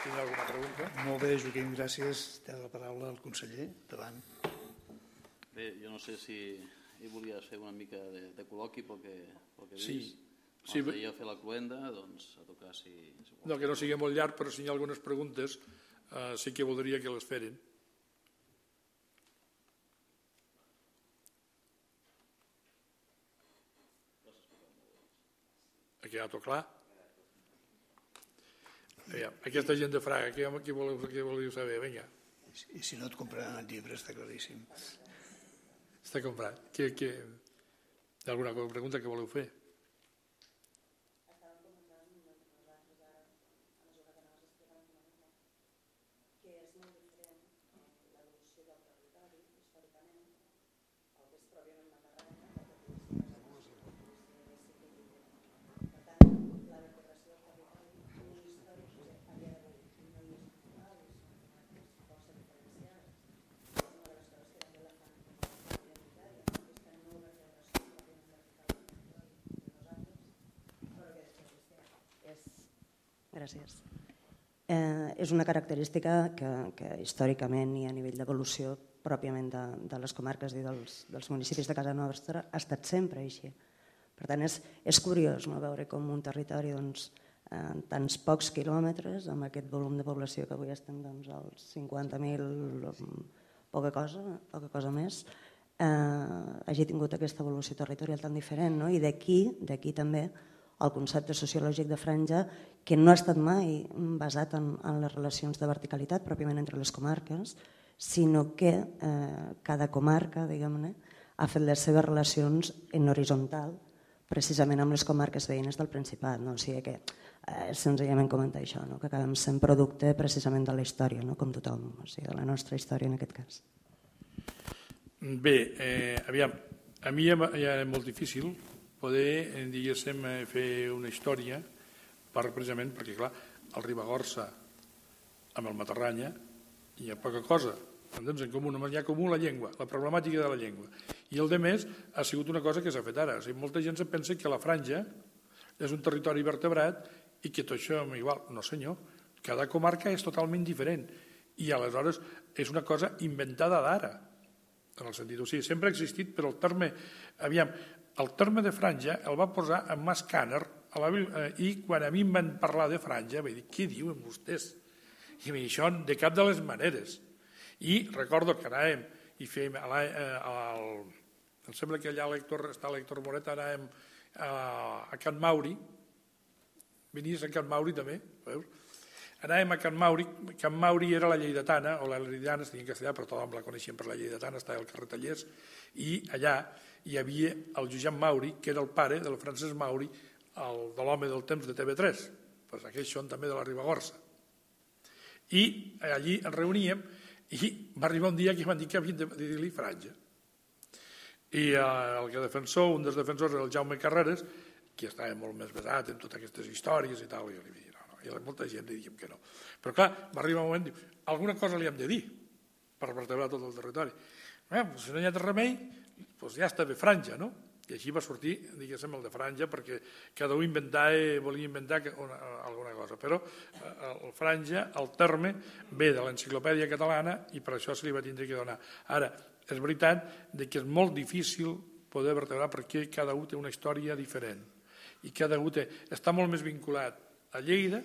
Teniu alguna pregunta? Molt bé, Joaquim, gràcies. Té la paraula el conseller. Endavant. Bé, jo no sé si hi volies fer una mica de col·loqui pel que dius. Sí. Abans d'ahir a fer la cluenda, doncs a tocar si... No, que no sigui molt llarg, però si hi ha algunes preguntes sí que voldria que les feren. Ha quedat clar? Aquesta gent de Fraga, què voleu saber? Vinga. I si no et compraran el llibre, està claríssim. Està comprat. Hi ha alguna pregunta que voleu fer? Gràcies. És una característica que històricament i a nivell d'evolució pròpiament de les comarques i dels municipis de Casa Nostra ha estat sempre així. Per tant, és curiós veure com un territori en tants pocs quilòmetres, amb aquest volum de població que avui estem als 50.000, poca cosa més, hagi tingut aquesta evolució territorial tan diferent. I d'aquí també el concepte sociològic de franja, que no ha estat mai basat en les relacions de verticalitat pròpiament entre les comarques, sinó que cada comarca, diguem-ne, ha fet les seves relacions en horitzontal, precisament amb les comarques veïnes del Principat. O sigui que senzillament comentar això, que acabem sent producte precisament de la història, com tothom, o sigui, de la nostra història en aquest cas. Bé, aviam, a mi ja és molt difícil poder, diguéssim, fer una història precisament perquè, clar, al Ribagorça amb el Matarranya hi ha poca cosa, entens? En comú, només hi ha comú la llengua, la problemàtica de la llengua. I el de més ha sigut una cosa que s'ha fet ara. O sigui, molta gent se pensa que la Franja és un territori vertebrat i que tot això és igual. No, senyor, cada comarca és totalment diferent i aleshores és una cosa inventada d'ara, en el sentit, o sigui, sempre ha existit, però el terme, aviam, el terme de franja el va posar en Mas Càner i quan a mi em van parlar de franja vaig dir, què diuen vostès? I em això de cap de les maneres. I recordo que anàvem i fèiem, em sembla que allà està l'Héctor Moret, anàvem a Can Mauri, venies a Can Mauri també, veus? anàvem a Can Mauri. Can Mauri era la lleidatana, o la lleidatana, es deia en castellà, però tothom la coneixien per la lleidatana, estava al carrer Tallers, i allà hi havia el Josep Mauri, que era el pare del Francesc Mauri, de l'home del temps de TV3, pues aquells són també de la Ribagorça. I allí ens reuníem i va arribar un dia que van dir que havien de dir-li Franja. I un dels defensors era el Jaume Carreras, que estava molt més basat en totes aquestes històries i tal, i jo li vaig dir no, i molta gent li diguem que no. Però clar, va arribar un moment, diu, alguna cosa li hem de dir per vertebrar tot el territori. Si no hi ha remei, doncs ja està bé Franja, no? I així va sortir, diguéssim, el de Franja, perquè cada un volia inventar alguna cosa. Però el Franja, el terme, ve de l'enciclopèdia catalana i per això se li va tindre que donar. Ara, és veritat que és molt difícil poder vertebrar perquè cada un té una història diferent i cada un està molt més vinculat a Lleida,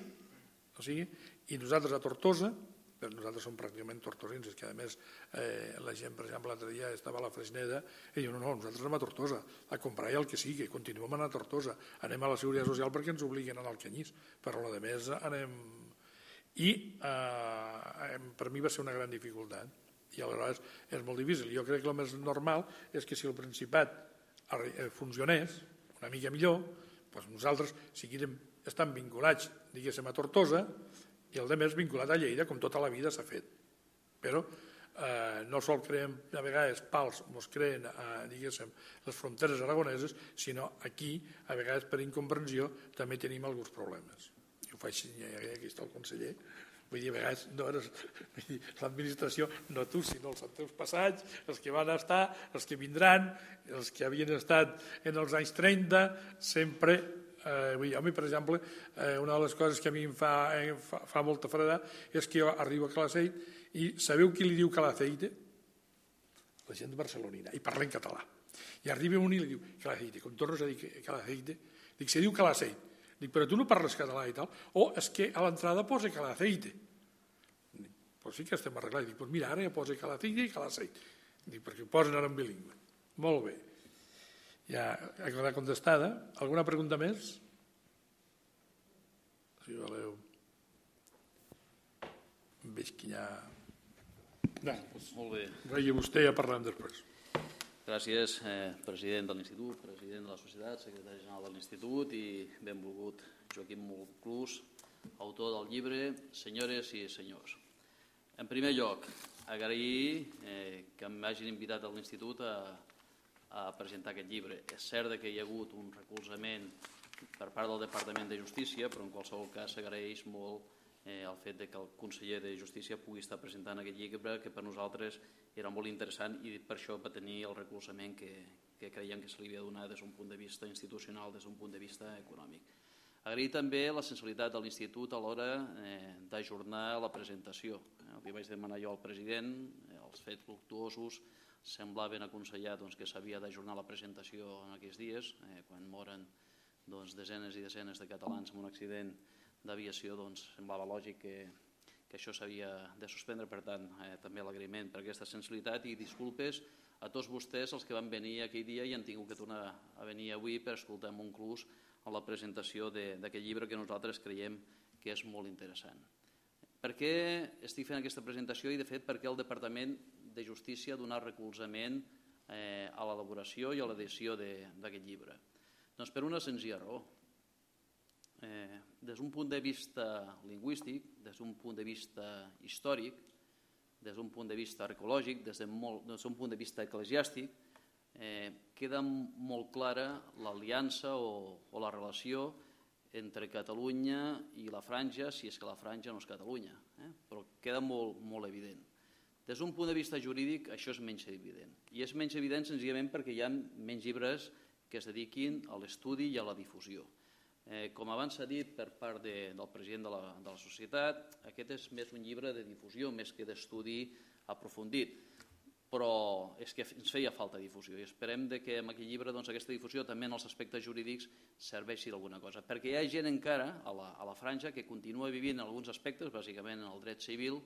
i nosaltres a Tortosa, però nosaltres som pràcticament tortosins, és que a més la gent, per exemple, l'altre dia estava a la Freixneda i diu, no, nosaltres anem a Tortosa a comprar el que sigui, continuem anant a Tortosa, anem a la Seguretat Social perquè ens obliguen a anar al Canyís, però a la de més anem... I per mi va ser una gran dificultat i aleshores és molt difícil. Jo crec que el més normal és que si el Principat funcionés una mica millor, doncs nosaltres seguirem estan vinculats, diguéssim, a Tortosa i el de més vinculat a Lleida, com tota la vida s'ha fet. Però no sol creem a vegades pals, ens creen, diguéssim, les fronteres aragoneses, sinó aquí, a vegades per incomprensió, també tenim alguns problemes. I ho faig, aquí està el conseller, vull dir, a vegades no eres l'administració, no tu, sinó els teus passats, els que van estar, els que vindran, els que havien estat en els anys 30, sempre... a mi, per exemple, una de les coses que a mi em fa molta freda és que jo arribo a Calaceit i sabeu qui li diu Calaceite? La gent barcelonina, i parla en català. I arriba un i li diu Calaceite, com tornes a dir Calaceite, dic, se diu Calaceit. Dic, però tu no parles català i tal? O és que a l'entrada posa Calaceite. Pues sí que estem arreglats. Dic, pues mira, ara ja posa Calaceite i Calaceit. Dic, perquè ho posen ara en bilingüe. Molt bé. Ja ha quedat contestada. Alguna pregunta més? Si voleu. Veig que ja... No, doncs, molt bé. Regui vostè i ja parlem després. Gràcies, president de l'Institut, president de la Societat, secretari general de l'Institut i benvolgut Joaquim Molclús, autor del llibre Senyores i senyors. En primer lloc, agrair que m'hagin invitat a l'Institut a presentar aquest llibre. És cert que hi ha hagut un recolzament per part del Departament de Justícia, però en qualsevol cas s'agraeix molt el fet que el conseller de Justícia pugui estar presentant aquest llibre, que per nosaltres era molt interessant i per això va tenir el recolzament que creiem que se li havia donat des d'un punt de vista institucional, des d'un punt de vista econòmic. Agrair també la sensibilitat de l'Institut a l'hora d'ajornar la presentació. Li vaig demanar jo al president, els fets luctuosos semblaven aconsellar que s'havia d'ajornar la presentació en aquests dies, quan moren desenes i desenes de catalans en un accident d'aviació, semblava lògic que això s'havia de suspendre. Per tant, també l'agraïment per aquesta sensibilitat i disculpes a tots vostès els que van venir aquell dia i han tingut que tornar a venir avui per escoltar amb un clus a la presentació d'aquest llibre que nosaltres creiem que és molt interessant. Per què estic fent aquesta presentació i, de fet, per què el Departament de Justícia ha donat recolzament a l'elaboració i a l'edició d'aquest llibre? Doncs per una senzilla raó. Des d'un punt de vista lingüístic, des d'un punt de vista històric, des d'un punt de vista arqueològic, des d'un punt de vista eclesiàstic, queda molt clara l'aliança o la relació entre Catalunya i la Franja, si és que la Franja no és Catalunya, però queda molt evident. Des d'un punt de vista jurídic això és menys evident, i és menys evident senzillament perquè hi ha menys llibres que es dediquin a l'estudi i a la difusió. Com abans s'ha dit per part del president de la societat, aquest és més un llibre de difusió més que d'estudi aprofundit, però és que ens feia falta difusió i esperem que amb aquest llibre aquesta difusió també en els aspectes jurídics serveixi d'alguna cosa, perquè hi ha gent encara a la Franja que continua vivint en alguns aspectes, bàsicament en el dret civil,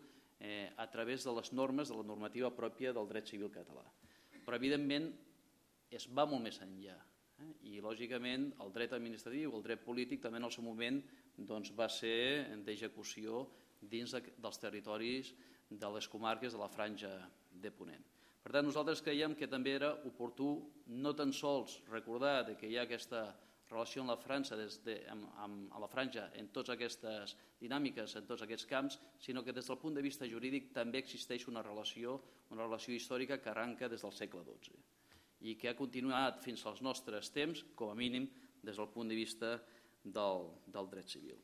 a través de les normes, de la normativa pròpia del dret civil català. Però evidentment es va molt més enllà i lògicament el dret administratiu, el dret polític també en el seu moment va ser d'execució dins dels territoris de les comarques de la Franja de Ponent. Per tant, nosaltres creiem que també era oportú no tan sols recordar que hi ha aquesta relació amb la Franja en totes aquestes dinàmiques, en tots aquests camps, sinó que des del punt de vista jurídic també existeix una relació històrica que arranca des del segle XII i que ha continuat fins als nostres temps, com a mínim des del punt de vista del dret civil.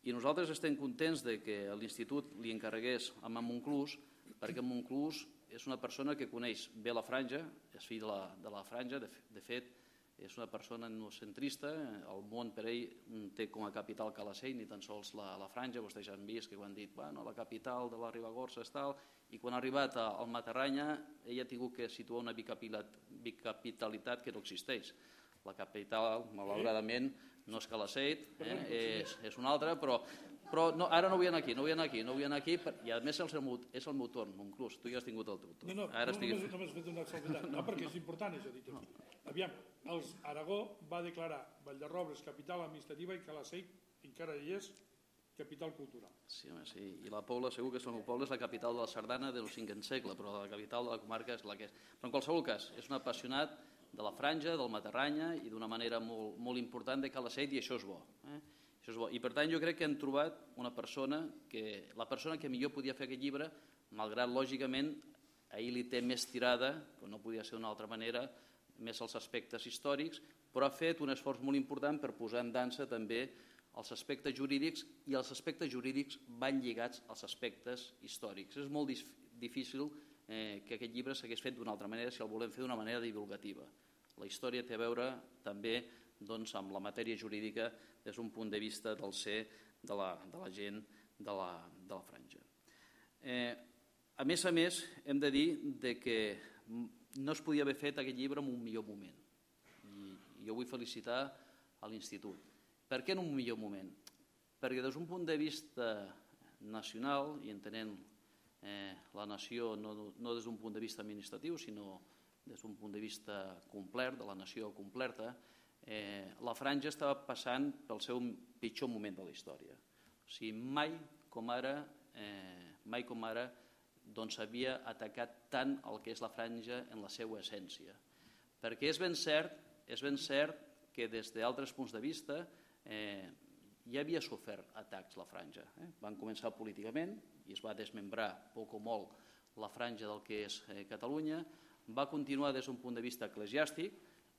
I nosaltres estem contents que l'Institut li encarregués a Monclús, perquè Monclús és una persona que coneix bé la Franja, és fill de la Franja, de fet, és una persona etnocentrista, el món per ell té com a capital Calaceit, ni tan sols la Franja, vostès ja han vist que ho han dit, bueno, la capital de la Ribagorça és tal, i quan ha arribat al Matarranya ell ha tingut que situar una bicapitalitat que no existeix. La capital, malauradament, no és Calaceit, és una altra, però ara no vull anar aquí, i a més és el meu torn, Monclús, tu ja has tingut el teu torn. No, només fet una exaltat, no, perquè és important això dit aquí. Aviam, Aragó va declarar Vall-de-Robles capital administrativa i Calaceit encara hi és capital cultural. Sí, i la Pobla, segur que el meu poble és la capital de la Sardana del 5è segle, però la capital de la comarca és la que és. Però en qualsevol cas, és un apassionat de la Franja, del Matarranya i d'una manera molt important de Calaceit, i això és bo. Això és bo. I per tant jo crec que hem trobat la persona que millor podia fer aquest llibre, malgrat lògicament a ell li té més tirada, que no podia ser d'una altra manera, més als aspectes històrics, però ha fet un esforç molt important per posar en dansa també els aspectes jurídics, i els aspectes jurídics van lligats als aspectes històrics. És molt difícil que aquest llibre s'hagués fet d'una altra manera si el volem fer d'una manera divulgativa. La història té a veure també amb la matèria jurídica des d'un punt de vista del ser de la gent de la Franja. A més, hem de dir que no es podia haver fet aquest llibre en un millor moment. I jo vull felicitar a l'Institut. Per què en un millor moment? Perquè des d'un punt de vista nacional, i entenent la nació no des d'un punt de vista administratiu, sinó des d'un punt de vista complet, de la nació completa, la Franja estava passant pel seu pitjor moment de la història. O sigui, mai com ara havia atacat tant el que és la Franja en la seva essència. Perquè és ben cert que des d'altres punts de vista ja havia sofert atacs la Franja. Van començar políticament i es va desmembrar poc o molt la Franja del que és Catalunya, va continuar des d'un punt de vista eclesiàstic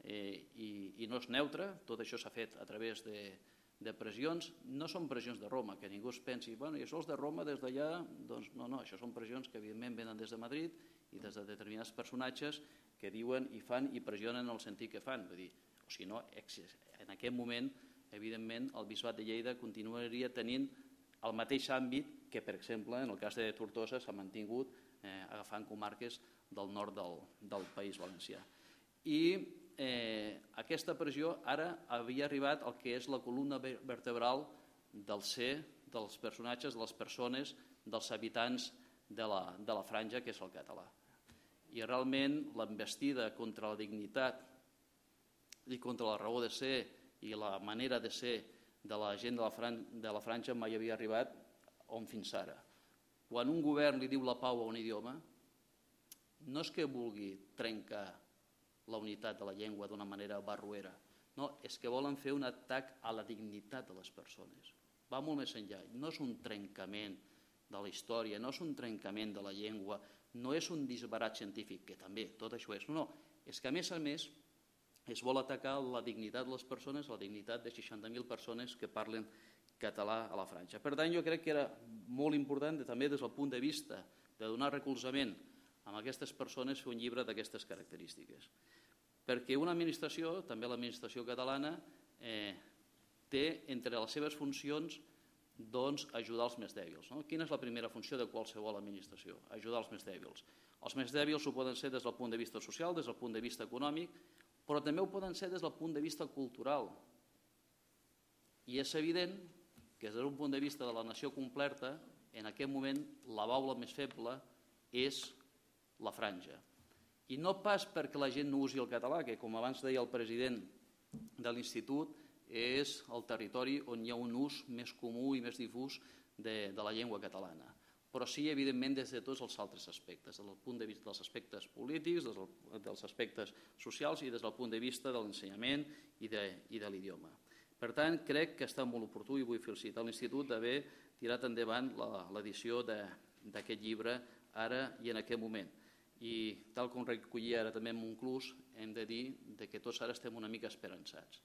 i no és neutre, tot això s'ha fet a través de pressions, no són pressions de Roma, que ningú es pensi, bueno, i això és de Roma des d'allà, doncs no, això són pressions que evidentment venen des de Madrid i des de determinats personatges que diuen i fan i pressionen en el sentit que fan. Vull dir, o sigui, no, en aquest moment, evidentment, el Bisbat de Lleida continuaria tenint el mateix àmbit que, per exemple, en el cas de Tortosa s'ha mantingut agafant comarques del nord del País Valencià. I aquesta pressió ara havia arribat al que és la columna vertebral del ser, dels personatges, de les persones, dels habitants de la Franja, que és el català. I realment l'envestida contra la dignitat i contra la raó de ser i la manera de ser de la gent de la Franja mai havia arribat on fins ara. Quan un govern li diu la pau a un idioma, no és que vulgui trencar la unitat de la llengua d'una manera barroera, no, és que volen fer un atac a la dignitat de les persones. Va molt més enllà, no és un trencament de la història, no és un trencament de la llengua, no és un disbarat científic, que també tot això és, no, és que a més es vol atacar la dignitat de les persones, la dignitat de 60.000 persones que parlen català a la Franja. Per tant, jo crec que era molt important també des del punt de vista de donar recolzament a aquestes persones fer un llibre d'aquestes característiques. Perquè una administració, també l'administració catalana, té entre les seves funcions ajudar els més dèbils. Quina és la primera funció de qualsevol administració? Ajudar els més dèbils. Els més dèbils ho poden ser des del punt de vista social, des del punt de vista econòmic, però també ho poden ser des del punt de vista cultural. I és evident que des d'un punt de vista de la nació completa, en aquest moment la baula més feble és la Franja. I no pas perquè la gent no usi el català, que com abans deia el president de l'Institut, és el territori on hi ha un ús més comú i més difús de la llengua catalana, però sí, evidentment, des de tots els altres aspectes, des del punt de vista dels aspectes polítics, dels aspectes socials i des del punt de vista de l'ensenyament i de l'idioma. Per tant, crec que està molt oportú i vull felicitar l'Institut d'haver tirat endavant l'edició d'aquest llibre ara i en aquest moment. I tal com recollia ara també en Montclús, hem de dir que tots ara estem una mica esperançats.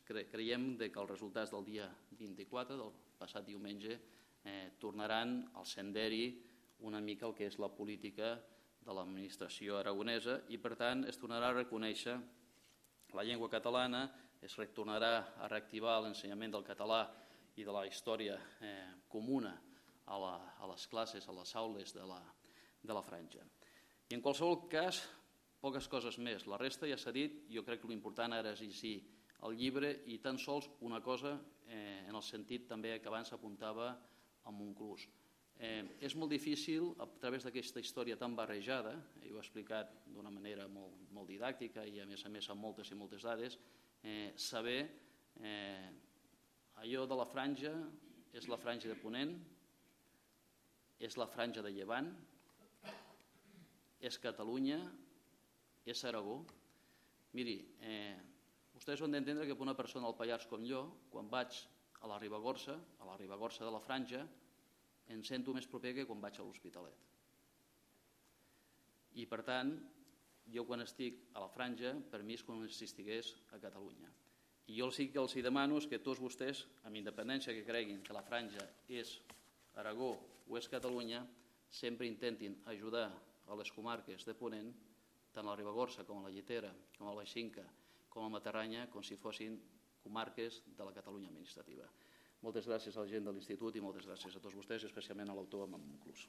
Creiem que els resultats del dia 24, del passat diumenge, tornaran al senderi una mica el que és la política de l'administració aragonesa i, per tant, es tornarà a reconèixer la llengua catalana, es tornarà a reactivar l'ensenyament del català i de la història comuna a les classes, a les aules de la franja. I en qualsevol cas, poques coses més. La resta ja s'ha dit, jo crec que l'important ara és llegir el llibre i tan sols una cosa en el sentit també que abans apuntava a Montclús. És molt difícil, a través d'aquesta història tan barrejada, ho he explicat d'una manera molt didàctica i a més amb moltes i moltes dades, saber allò de la franja és la franja de Ponent, és la franja de Llevant, és Catalunya, és Aragó. Miri, vostès ho han d'entendre que per una persona del Pallars com jo, quan vaig a la Ribagorça de la Franja, em sento més proper que quan vaig a l'Hospitalet. I, per tant, jo quan estic a la Franja, per mi és com si estigués a Catalunya. I jo sí que els demano que tots vostès, amb independència que creguin que la Franja és Aragó o és Catalunya, sempre intentin ajudar a les comarques de Ponent, tant a la Ribagorça com a la Llitera, com a la Baixinca, com a la Matarranya, com si fossin comarques de la Catalunya administrativa. Moltes gràcies a la gent de l'Institut i moltes gràcies a tots vostès, especialment a l'autor Montclús.